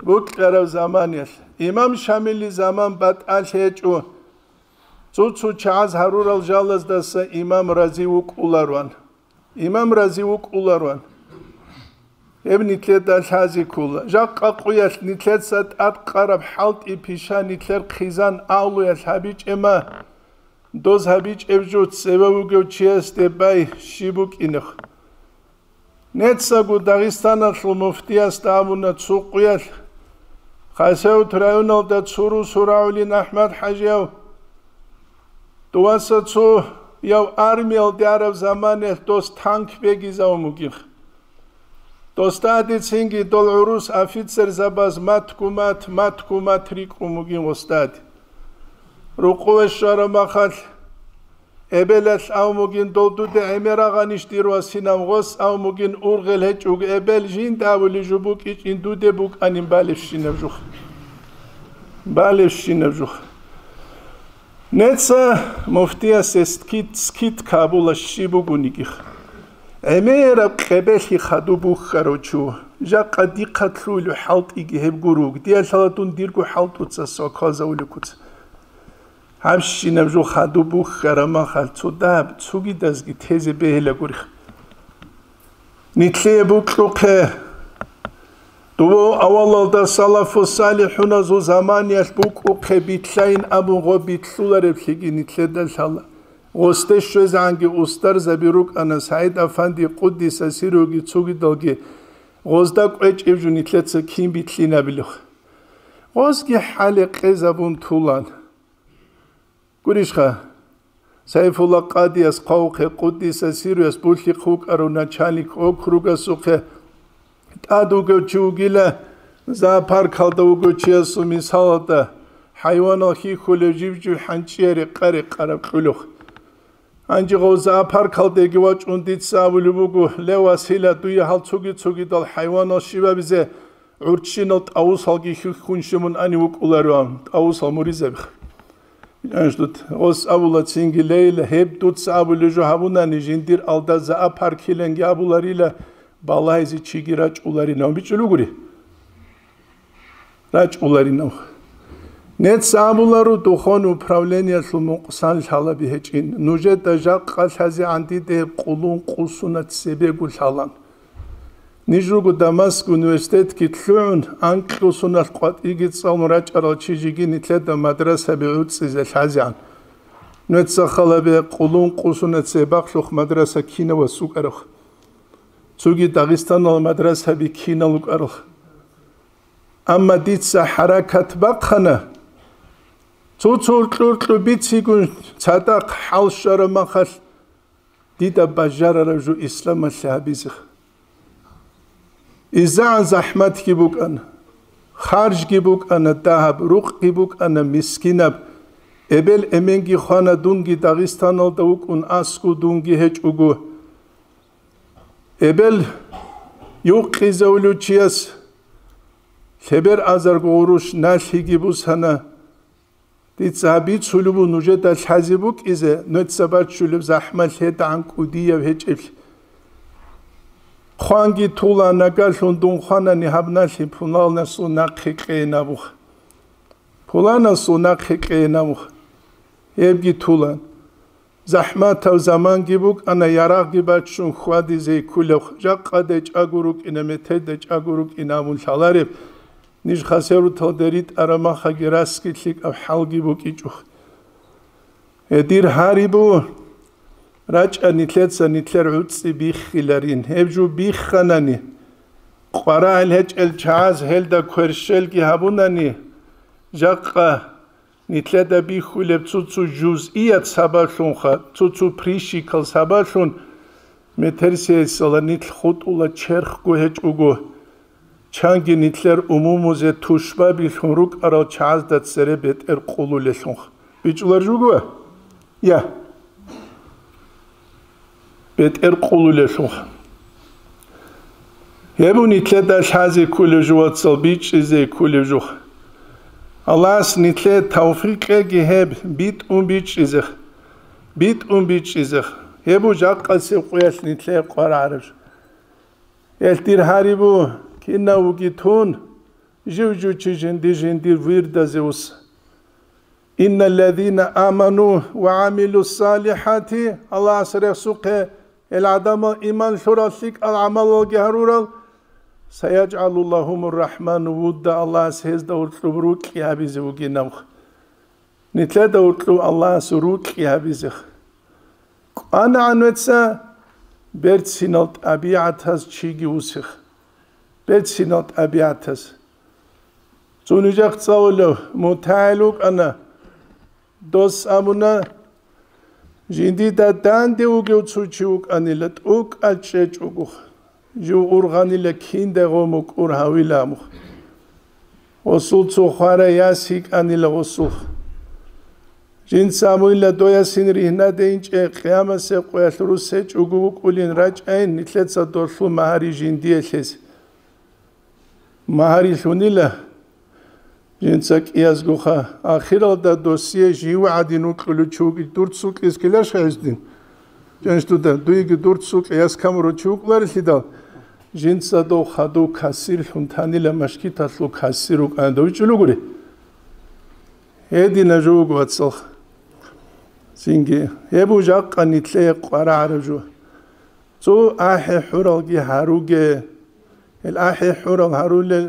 букьараб заманалъ. Имам Шамили заман батӀалъ гьечӀо. Цо-цо чагӀаз гьарурал жалаздаса имам рази вукӀулароан. Имам рази вукӀулароан. Гьеб нилъеда лъазе ккола. Жакъа къуялъ нилъеца тӀадкъараб хӀалтӀи пиша нилъер хъизан авлуялъ гьабичӀема, доз гьабичӀеб жо цеве вугев чиясде бай щиб букӀинехъ. Нецаго Дагъистаналъул муфтиясда абуна цо къуялъ, Хасавюрт районалда цо русу рагӀулин АхӀмад-хӀажияв, дуваса цо яв армиялде араб заманаялъ дос танк бегизавун бугин. Досда гьадицинги дол гӀурус офицерзабаз матгу-мат, матгу-мат рикӀкӀун бугин гъосдади. Рукъове щвараб махалъ, эбелалъ ав мугин дол дуде гӀемерагъанищ дир васинав гъос ав мугин ургъел гьечӀого эбел жинда авулев жо букӀичӀин дуде букӀанин балебщинаб жух. Балебщинаб жух. Неца муфтиясе скид-, скидка абула щиб бугонигих. ГӀемераб къебелъи хадуб бухьарав чу. Жакъа дихъа лъугьулев хӀалтӀиги гьеб гуруг. Диялъала дун дирго хӀалтӀуца сваквазавулев куц. Гьабщинаб жо хадуб бухьараб махалъ цо дагьаб цогидазги тезе бегьилагуриха. Нилъее бокьухъе, дова авалалда салафу салихӀуназул заманиялъ букӀухъе битлъайин абун гъо битлъулареблъиги нилъеда лъала. Гъосде щвезегӀанги устарзаби рукӀана СагӀид-афанди къуддиса сирруги цогидалги, гъозда кӀвечӀеб жо нилъеца кин битлъинабилеха. Гъозги хӀале къезабун тулан. Гурищха, Сайфулла къадияс хъвавухъе къуддиса сирруяс булъихъ вукӀарав начальник округасухъе тӀад вугев чи вугила, зоопаркалда вугев чиясул мисалалда, хӀайванал хьихьулев жив-жив хӀанчӀиял рекъа-рекъараб кьулухъ. Гьанже гъов зоопаркалдеги вачӀун дица абулеб буго: «Ле, Васила, дуе гьал цоги-цогидал хӀайванал щибабизе гӀурччинал тӀавусалги хьихьун щиб мун ани вукӀулароан, тӀавусал муризабиха». Гьанже дуца гъос абула цинги: «Лейла, гьеб дуца абулеб жо гьабунани, жиндир алда зоопаркиланги абуларила, балагьизе чиги рачӀуларинав», бичӀчӀулугури. РачӀуларинав. Нец абуларо духовный управлениялъул мукъсан лъалаби гьечӀин. Нужеда жакъа лъазегӀан дида гьеб къулун къусуна цебего лъалан. Ниж руго Дамаск университетги лъугӀун, анкьго соналъ къватӀиги цӀалун рачӀарал чи жеги нилъеда мадрасаби гӀуцӀизе лъазегӀан. Нуца халабе къулун къусуна цебахълъухъ мадраса кинав васукӀарав. Цоги Дагъистанал мадрасаби кинал вукӀарал. Амма дица хӀаракат бахъана, цо-цо уркьу-уркьу бицигун цадахъ хӀал щвараб махалъ, дида бажарараб жо исламалъе гьабизе. ИзегӀан захӀматги букӀана, харжги букӀана дагьаб, рукъги букӀана мискинаб. Эбел-эменги хвана, дунги Дагъистаналда вукӀун, аскӀов дунги гьечӀого. Эбел юкъизавулев чияс лъебер азарго гъурущ налъиги бусана. Дица гьаб бицулеб буго нужеда лъазе букӀизе, нуца баччулеб захӀмалъ гьедагӀан кӀудияв гьечӀеблъи. Хъванги тула, нагалъун дун хванани гьаб налъи пуланасул нахъе кьейин абуха. Пуланасул нахъе кьейин абуха. Гьебги тулан. ЗахӀматав заманги букӀана, ярагъги баччун хьвадизе кколеб, жакъа дечӀаго рукӀина, метер дечӀаго рукӀина абун лъалареб, ниж хасавюрталде ритӀараб махаги расги лъикӀаб хӀалги букӀичӀо. Гьедир гьарибу, рачӀа нилъеца нилъер гӀуцӀи биххиларин. Гьеб жо бихханани, къварагӀел гьечӀел чагӀаз гьелда кверщелги гьабунани, жакъа нилъеда бихьулеб цо-цо жузъият сабаблъунха, цо-цо прищикал сабаблъун метерсиясала нилъ хутӀула черхго гьечӀого, чанги нилъер умумузе тушбабилъун рукӀарал чагӀазда цере бетӀер къулулелъунха. БичӀулар жуго? Я. БетӀер къулулелъул. Гьеб нилъеда лъазе кколеб жо, вацал, бичӀчӀизе кколеб жо. Аллагьас нилъее тавфикъ кьеги гьеб битӀун бичӀчӀизе. БитӀун бичӀчӀизе. Гьеб жакъасеб къоялъ нилъее къваригӀараб жо. Гьелъ дир гьарибу, кинав вугитун, жив-жив чи жинди-жиндир вирдазе ус. Инналлазина аману ва амилу салихати, Аллагьас рехсухъе, гьел гӀадамал иман лъурал, лъикӀал гӀамалалги гьарурал, саяджгӀалу лагьумур рахӀману вудда, Аллагьас гьезда уркьуб рукьи гьабизе вугинавха. Нилъеда уркьуб Аллагьас рукьи гьабизех. КӀванагӀан веца берцинал тӀабигӀатаз чиги усех. Берцинал тӀабигӀатаз. Цо нижехъ цӀалулев мутагӀил вукӀана. Дос абуна, жиндида данде вугев цо чи вукӀанила, тӀокӀал чӀечӀого, жив ургъанила киндай гъо мукӀур гьавила абух. Гъосул цо хварай яс йикӀанила гъосулъ. Жинца абуйла, доясин ригьнаде инчӀей, къиямасеб къоялъ рус гьечӀого вукӀулин рачӀайин, нилъеца долъул магьари жиндие лъезе. Магьари лъунила жинца кӀиязгоха. Ахиралда досие жив гӀадин вукьулев чи вугин, дур цукьиз ккеларищ гьесдин? Жанш дуда, дуеги дур цукьи яс камурав чи вукӀуларелъидал, жинца дов хадув кассирлъун танила, машгиталъул кассир вукӀана, дов вичӀулугури. Гьедина жо вуго, вацалха. Цинги, гьеб жакъа нилъее къварагӀараб жо. Цо ахӀи хӀуралги гьаруге. Гьел ахӀи хӀурал гьарулел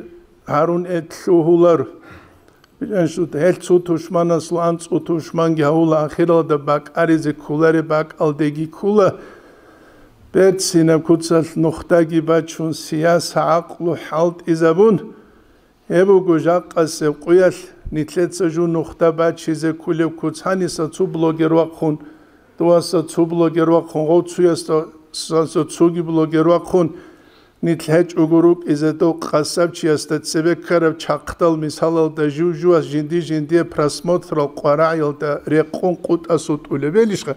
гьарун ил лъугьулар. Гьел цо тушманасул анцӀго тушманги гьавула, ахиралда бакӀаризе кколареб бакӀалдеги ккола. Берцинаб куцалъ нухдаги бачун, сияса гӀакълу хӀалтӀизабун, гьеб буго жакъасеб къуялъ нилъеца жу нухда бачизе кколеб куц. Гьаниса цо блогер вахъун, дуаса цо блогер вахъун, гъов цуясда, саса цоги блогер вахъун, нилъ гьечӀого рукӀизе дов къасабчиясда цебе ккараб чахъдал мисалалда жив-живас жинди-жиндие просмотрал къварагӀиялда рекъон къутӀасутӀулеб белищха?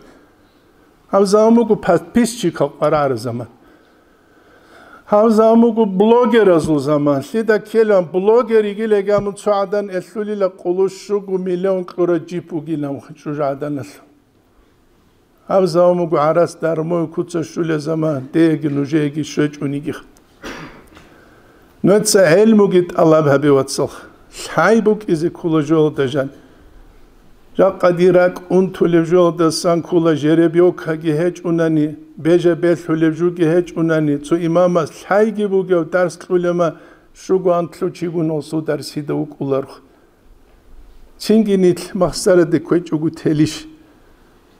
Гьаб заман буго подписчикал къварагӀараб заман. Гьаб заман буго блогеразул заман. Лъида ккелан блогер йигилан гьамун цо гӀадан элъулила къулу щуго миллион кьураб джип бугилан чӀужугӀаданалъул. Гьаб заман буго гӀарац дармуй куца щулеб заман, деги нужееги щвечӀунигиха. Нуца гӀелмуги тӀалаб гьабе, вацал. Лъай букӀизе ккола жоялда жан. Жакъа дир ракӀ унтулеб жоялдасан ккола жеребёкаги гьечӀунани, бежа белъулеб жуги гьечӀунани, цо имамас лъайги бугев дарс кьулема, щуго анлъу чигун гъосул дарсида вукӀуларх. Цинги нилъ махсараде кквечӀого телищ?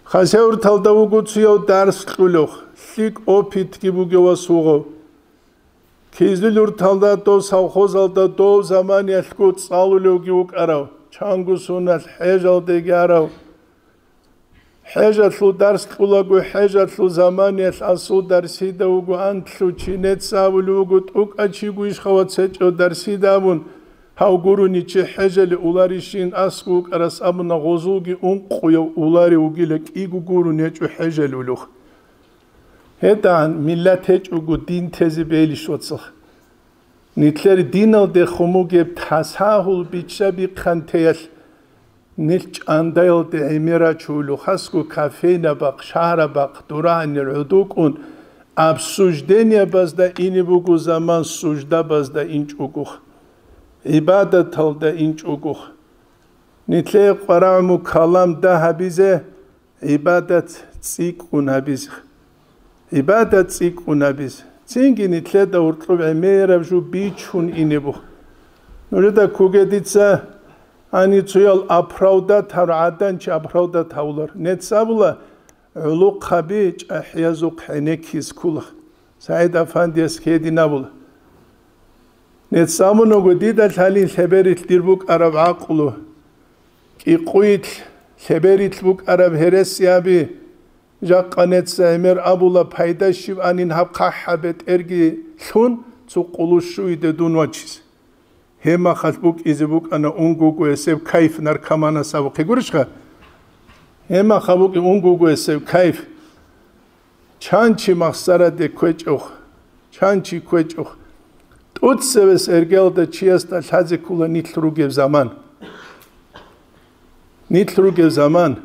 Хасавюрталда вуго цуяв дарс кьулев, лъикӀ опытги бугев ва сугъав. Кизилюрталда дов совхозалда дов заманиялъго цӀалулевги вукӀарав, чанго соналъ хӀежалдеги арав. ХӀежалъул дарс кьулаго, хӀежалъул заманиялъ асул дарсида вуго анлъу чи, нецавулев вуго тӀукӀа чи гуйшхавац гьечӀев дарсида абун, гьав гурони чи хӀежале уларищин асго вукӀарас абуна, гъозулги ункъуяв уларев вугила, кӀиго гурун гьечӀо хӀежалулев. ГьедагӀан миллат гьечӀого дин тезе бейилищ, вацал? Нилъер диналде хумугеб тасагьул бичча-бихъантеялъ нилъ чӀандаялде гӀемерачулев, хасго кофейнабахъ, шагьарабахъ, дурагьанил гӀодокӀун, обсуждениябазда ине буго заман, суждабазда инчӀогох, гӀибадаталда инчӀогох. Нилъее къварагӀму калам дагьабизе, гӀибадат цӀикӀкӀун гьабизе. ГӀибадат цӀикӀкӀун гьабизе. Цинги нилъеда гьоркьоб гӀемераб жо бичун ине буго. Нужеда ккуге дица гьанив цоял оправдать гьарав гӀадан чи оправдать гьавулар. Нецабула гӀолохъаби чӀахӀиязухъ гӀенеккизе ккола. СагӀид Афандияс гьедин абула. Нецамунаго дида лъалин лъеберилъ дир букӀараб гӀакълу, кӀикъуйилъ лъеберилъ букӀараб гьересиаби, жакъа неца гӀемер абула, пайда щиб анин гьаб хъахӀаб бетӀерги лъун цо къулущуйде дун вачизе. Гьебмахалъ букӀизе букӀана унгугоясеб кайф наркоманас абухъе гурищха? Гьебмахъа букӀи унгугоясеб кайф. Чан чи махсараде кквечӀев, чан чи кквечӀев. ТӀуцевес эргелда чиясда лъазе ккула нилъ ругеб заман. Нилъ ругеб заман.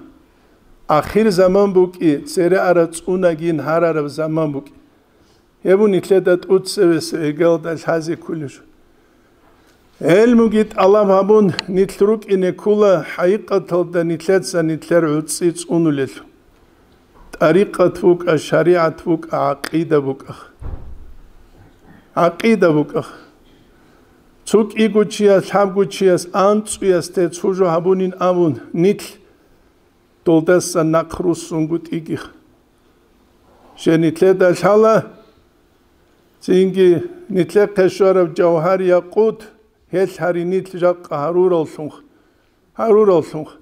Ахир заман букӀи, цере ара цӀунагин гьарараб заман букӀи. Гьеб нилъеда тӀуцевес эргалда лъазе кколеб жо. ГӀелмуги тӀалаб гьабун, нилъ рукӀине ккола хӀакъикъаталда нилъеца нилъер гӀуцӀи цӀунулел. ТӀарикъат букӀа, шаригӀат букӀа, гӀакъида букӀа. ГӀакъида букӀа. Цо кӀиго чияс, лъабго чияс анцӀуясде цо жо гьабунин абун, нилъ долдасан нахъ руссунгутӀигиха. Жени лъеда лъала, цинги нилъехъе щвараб жавгьар-якъут, гьелъ гьари нилъ жакъа гьарураллъунха, гьарураллъунха.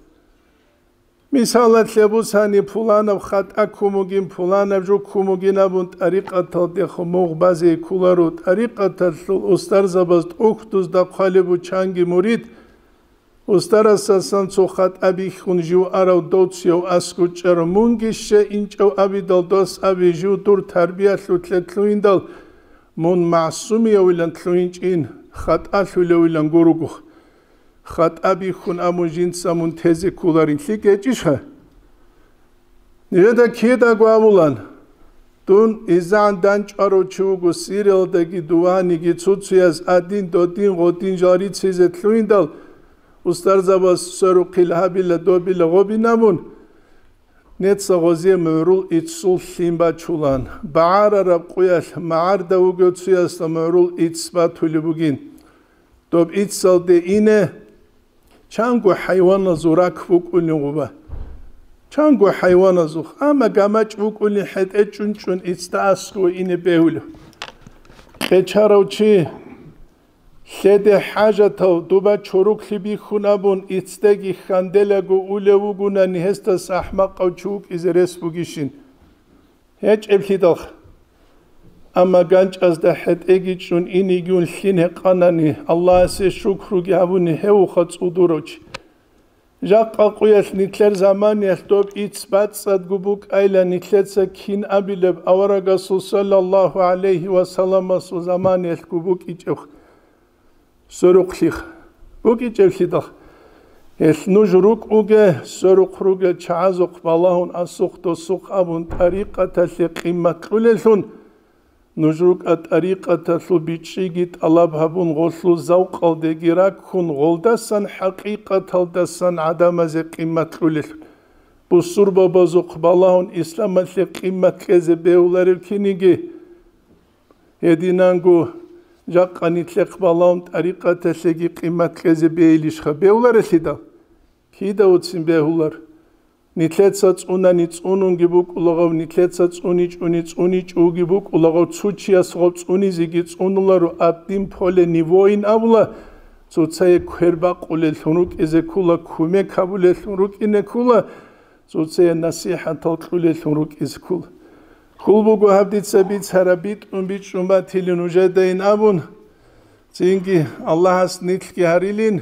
Мисалалъе бусани, пуланаб хатӀа ккун бугин, пуланаб жо ккун бугин абун, тӀарикъаталдехун мугъ базе кколаро, тӀарикъаталъул устарзабаз тӀухьдузда хъвалеб бу чанги мурид, Устарасасан цо хатӀа бихьун жив арав доцияв аскӀучӀарав, мунги ще инчӀав абидал дос аби, жив дур тарбиялъулъе лъугьиндал, мун магӀсумиявилан лъугьинчӀин, хатӀалъулевилан гуругух. ХатӀа бихьун абун жинца мун тезе кколарин лъикӀ гьечӀищха? Нижеда кидаго абулан, дун изегӀан дандчӀварав чи вуго, Сириялдаги дуваниги цуцуяз адин-додин гъодин жал рицизе лъугьиндал, устарзабаз сверухъил гьабила, добила гъобин абун, Неца гъозие мугӀрул иццул лъим бачулан, багӀарараб къуялъ магӀарда вугев цуясда мугӀрул ицц батулеб бугин. Доб иццалде ине, чанго хӀайваназул рак букӀунин гъуба. Чанго хӀайваназухъ, амма гамачӀ букӀунин хӀетӀе чӀунчӀун иццда аскӀове ине бегьулев. Къечарав чи, лъеде хӀажатав, дуба чороклъи бихьун абун, иццдеги хьанделаго улев вугунани, гьесдаса ахӀмакъав чи вукӀизе рес бугищин? ГьечӀеблъидалха. Амма ганчӀазда хӀетӀеги чӀун инигун лъим гьекъанани, Аллагьасе шукруги гьабуни, гьевха цӀудурав чи. Жакъа къуялъ нилъер заманиялъ доб ицц бацӀцӀадго букӀайилан нилъеца кин абилеб аварагасул саллаллагьу гӀалайгьи ва салламасул заманиялъго букӀичӀебха. Сверухълъиха. БукӀичӀеблъидалха. Гьелъ нуж рукӀуге, сверухъ ругел чагӀазухъ балагьун асухъ-досухъ абун тӀарикъаталъе къимат кьулеллъун, нуж рукӀа тӀарикъаталъул бичӀчӀиги тӀалаб гьабун, гъолъул завкъалдеги раккун, гъолдасан хӀакъикъаталдасан гӀадамазе къимат кьулеллъун. Бусурбабазухъ балагьун исламалъе къимат кьезе бегьуларев киниги, гьединанго жакъа нилъехъ балагьун тӀарикъаталъеги къимат кьезе бегьилищха? Бегьуларелъидал? Кида уцин бегьулар? Нилъеца цӀунани цӀунунги букӀулагъав, нилъеца цӀуничӀуни цӀуничӀуги букӀулагъав, цо чияс гъаб цӀунизеги цӀунуларо, одним поле не воин абула, цоцае квер бакъулеллъун рукӀизе ккула, кумек гьабулеллъун рукӀине ккула, цоцае насихӀатал кьулеллъун рукӀизе ккула. Ккул буго гьаб дица бицараб битӀун бичӀчӀун батилин нужедайин абун, цинги Аллагьас нилъги гьарилин,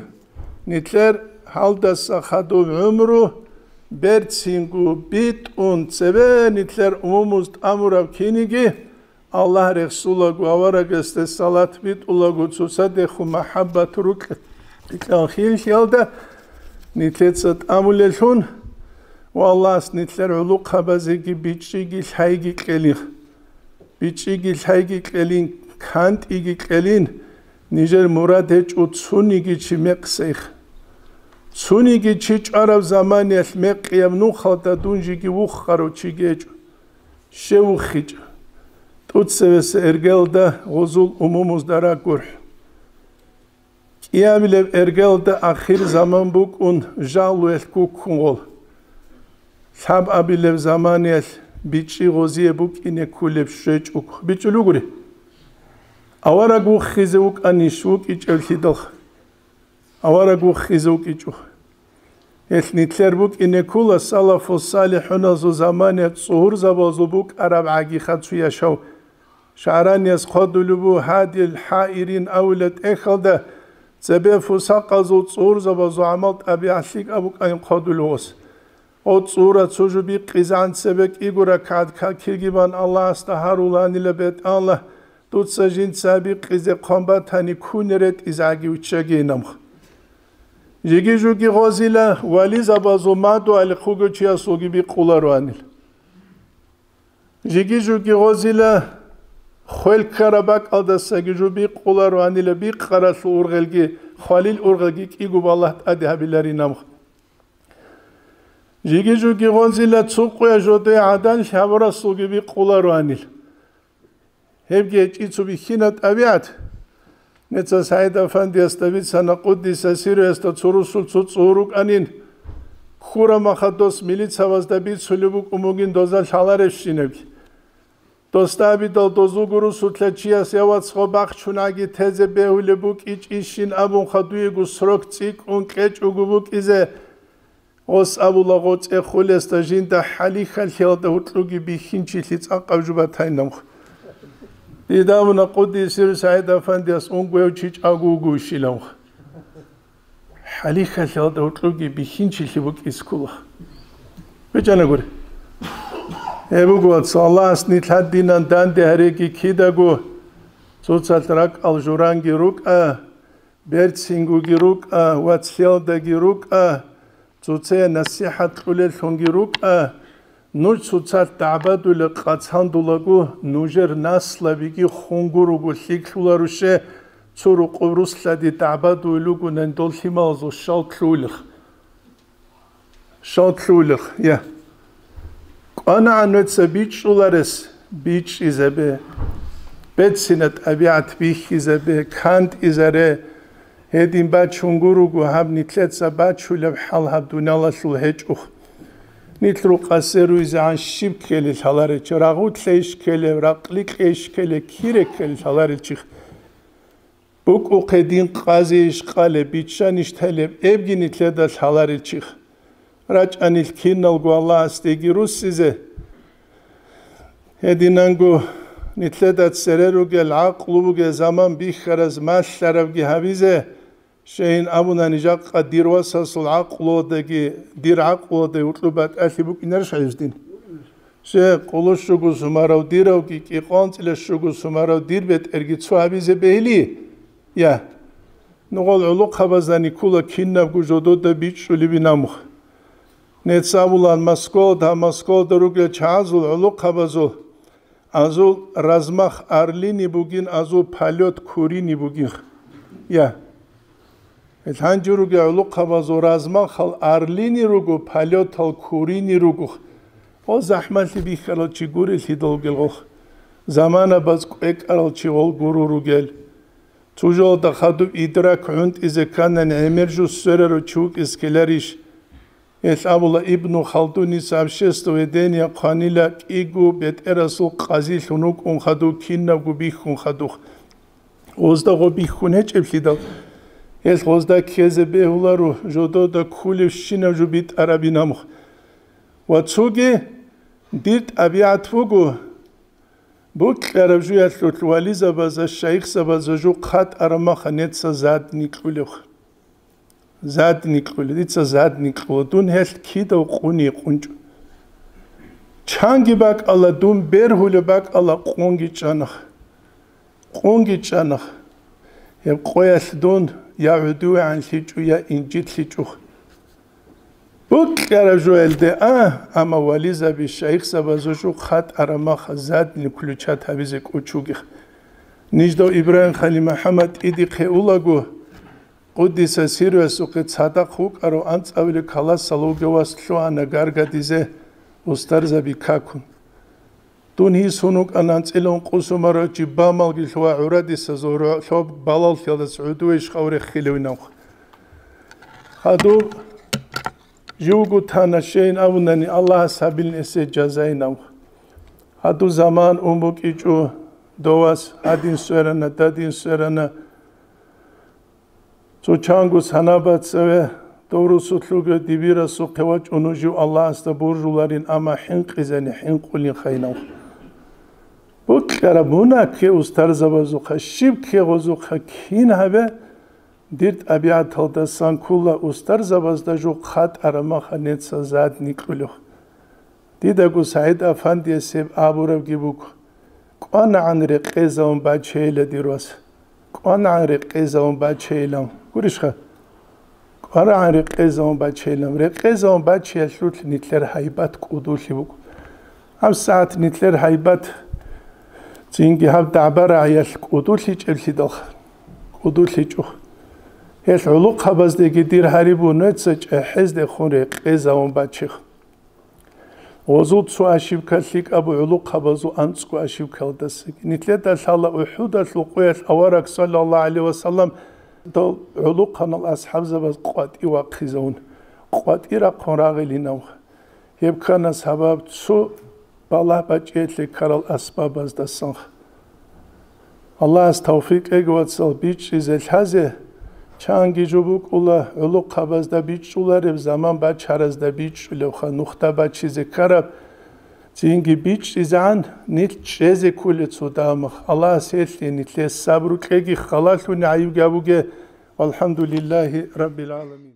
нилъер гьалдаса хадуб гӀумру берцинго битӀун цебе нилъер умумуз тӀамураб киниги, Аллагь рехсулаго, аварагасде салат битӀулаго, цоцадехун махӀаббат рукь-, рикьал хилиялда нилъеца тӀамулеллъун ва Аллагьас нилъер гӀулухъабазеги бичӀчӀиги лъайги кьелин. БичӀчӀиги лъайги кьелин, кантӀиги кьелин, нижер мурад гьечӀо цониги чи мекъсейх. Цониги чи чӀвараб заманиялъ мекъияб нухалда дун жеги вухарав чиги гьечӀо. Щев вухичӀо? ТӀуцевеса эргелда гъозул умумузда рагурхӀ. КӀиабилеб эргелда ахир заман букӀун, жагьлуялъ гуккун гъол. Лъабабилеб заманиялъ бичӀчӀи гъозие букӀине кколеб щвечӀого. БичӀчӀулугури. Авараг вухизе вукӀанищ вукӀичӀевлъидалха? Авараг вухизе вукӀичӀо. Гьелъ нилъер букӀине ккола салафу салихӀуназул заманиялъ цӀугьурзабазул букӀараб гӀагиха цо яшав. ШагӀранияс хъвадулеб буго Гьадил ХӀаирин авила тӀехьалда, цебе фусакъазул цӀугьурзабазул гӀамал-тӀабигӀат лъикӀаб букӀайин хъвадулев гъос. Гъо цӀугьура цо жо бикъизегӀан цебе кӀиго ракагӀат какилги бан Аллагьасда гьаруланила бетӀалла, дуца жинца бикъизе хъван батани, кунер ретӀизегӀаги виччагейин амха. Жиги-жуги гъозила вализабазул мадугьалихъ вугев чиясулги бикъулароанил. Жиги-жуги гъозила хвел ккараб бакӀалдасаги жо бикъулароанила бикъаралъул ургъелги, хвалил ургъелги кӀиго балагь тӀаде гьабиларин амха. Жиги-жуги гъозила цо къуя жодое гӀадан лъабурасулги бикъулароанил. Гьебги гьечӀи цо бихьина тӀабигӀат. Неца СагӀид-афандиясда бицана, къуддиса сирруясда, цо русул цо цӀугьур рукӀанин, ккураб махалъ дос милицабазда бицулеб букӀун бугин доза лъаларебщинабги. Досда абидал дозулго русулъа чияс: «Я, вац, гъо бахчунаги тезе бегьулеб букӀичӀищин», абунха, дуего срок цӀикӀкӀун кьечӀого букӀизе. Гъос абула, гъо цӀехолесда жинда хӀалихьалъиялда гьоркьоги бихьинчилъи цӀакъаб жо батайин амха. Дида абуна, къуддиса сирругьу, СагӀид-афандияс унго гьев чи чӀаго вугевщинилан амха. ХӀалихьалъиялда гьоркьоги бихьинчилъи букӀизе ккола. БичӀчӀанагури. Гьеб буго, вац, Аллагьас нилъ гьадинан данде гьареги кидаго, цоцалъ ракӀал журанги рукӀа, берцингоги рукӀа, вацлъиялдаги рукӀа, цоцае насихӀат кьулеллъунги рукӀа, нуж цоцалъ дагӀбадулеб къацандулаго, нужер наслабиги хунгуруго лъикӀлъуларуше, цо рукъуб руслъади дагӀбадуй лугунан дол лъималазул щал лъугьулех. Щал лъугьулех, я. АнагӀан нуца бичӀчӀуларес бичӀчӀизабе, бецина тӀабигӀат бихьизабе, кантӀизаре. Гьедин бачун гуруго гьаб нилъеца бачулеб хӀал гьаб дуниялалъул гьечӀухъ. Нилъ рукъасе руйзегӀан щиб ккелел лъаларел чи, рагъутлъейищ ккелев, ракъликьейищ ккелев, кире ккелел лъаларел чихъ. БукӀухъе дин къазейищ къалеб, биччанищ телеб, эбги нилъеда лъаларел чихъ. РачӀанил киналго Аллагьасдеги руссизе. Гьединанго нилъеда цере ругел, гӀакълу бугел заман бихьараз малъарабги гьабизе, щайин абунани, жакъа дир васасул гӀакълуялдаги дир гӀакълуялда гьукьу батӀалъи букӀинарищ гьаюздин? Щай, къулу щуго сумарав диравги, кӀикъоялда анцӀила щуго сумарав дир бетӀерги цо гьабизе бегьили? Я. Нугъал гӀулухъабаздани ккола кинабго жодода бичӀчӀулебин амухъ. Нецц абулаан Москвалда, Москвалда ругел чагӀазул гӀулухъабазул, азул размах орлиный бугин, азул полёт куриный бугин. Я. Гьел гьанже ругел гӀулухъабазул размахал орлиный руго, полётал куриный руго. Гъо захӀмалъи бихьарал чи гурелъидал ругел гъохъ. Заманабаз кӀвекӀарал чи гъол гуро ругел. Цо жоялда хадуб идрак гӀунтӀизе кканани гӀемер жо сверарав чи вукӀизе ккеларищ? Гьелъ абула Ибну Халдуница, обществоведение хъванила кӀиго бетӀерасул къазилъун вукӀун хадув, кинабго бихьун хадухъ. Гъозда гъо бихьун гьечӀеблъидал, гьелъ гъозда ккезе бегьуларо, жодода кколебщинаб жо битӀарабин амухъ. Ва цоги дир тӀабигӀат буго, бокьараб жуялъулъ вализабаза, шайихзабаза жо хъатӀараб маха нецца задник кьулев. Задник кьулев, дица задник кьула, дун гьелъ кидав къуни къунчӀо. Чанги бакӀала, дун бергьулеб бакӀала, къунги чӀана. Къунги чӀана. Гьеб къоялъ дун я гӀодовегӀан лъичӀо, я инжит лъичӀо. Бокьараб жоялде а, амма вализаби, шайихзабазул жо хъатӀараб маха задник включать гьабизе кӀочугех. Ниждав Ибрагьим Халил МухӀаммад тӀидихъе улаго, Къуддиса сирруясухъе цадахъ вукӀарав анцӀабилеб классалда вугев вас лъугьана гаргадизе устарзаби какун. Дун гьисун вукӀана анцӀила ункъо сумарав чи, бамалги лъугьа гӀурадисазул рогьоб балалъиялдаса гӀодове иш гъав реххилевинавха. Гьадуб живго тана, щайин абунани, Аллагьас гьабилин эсие жазайинавха. Гьадуб заман ун букӀичӀо, дов вас гьадин сверана, дадин сверана. Цо чанго санаба цеве дов русулъ вугев дибирасухъе вачӀун вугев Аллагьасда буржуларин, амма хӀинкъизани хӀинкъулин хайнав. Бокьараб мунагь кке устарзабазухъа, щиб кке гъозухъа, кин гьабе, дир тӀабигӀаталдасан ккола устарзабазда жо хъатӀараб маха нецца задник кьулев. Дидаго СагӀид Афандияс гьеб абурабги буго: «КӀванагӀан рекъезавун бачейила, дир вас. КӀванагӀан рекъезавун бачейилан». Гурищха? «КӀванагӀан рекъезавун бачейилан». Рекъезавун бачиялъулъ нилъер гьайбат кӀудулъи буго. ГьабсагӀат нилъер гьайбат цинги гьаб дагӀба-рагӀиялъ кӀудулъичӀеблъидалха. КӀудулъичӀо. Гьелъ гӀулухъабаздеги дир гьариб буго, нуца чӀехӀездехун рекъезавун бачеха. Гъозул цо ошибка лъикӀаб буго гӀулухъабазул анцӀго ошибкалдасаги. Нилъеда лъала УхӀудалъул къоялъ авараг, саллаллагьу гӀалайгьи ва саллам, дол гӀулухъанал асхӀабзабаз къватӀив вахъизавун, къватӀир рахъун рагъилинав. Гьеб ккана сабаб цо балагь бачӀиялъе ккарал асбабаздасан. Аллагьас тавфикъ кьеги, вацал, бичӀчӀизе лъазе, чанги жо букӀула гӀулухъабазда бичӀчӀулареб, заман бачаразда бичӀчӀулевха, нухда бачизе ккараб, цинги бичӀчӀизегӀан нилъ чӀезе кколел цо дамах. Аллагьас гьелъие нилъее сабру кьеги, халалъуни гӀайибги абуге. Валхамдулиллагьи раббил гӀаламин.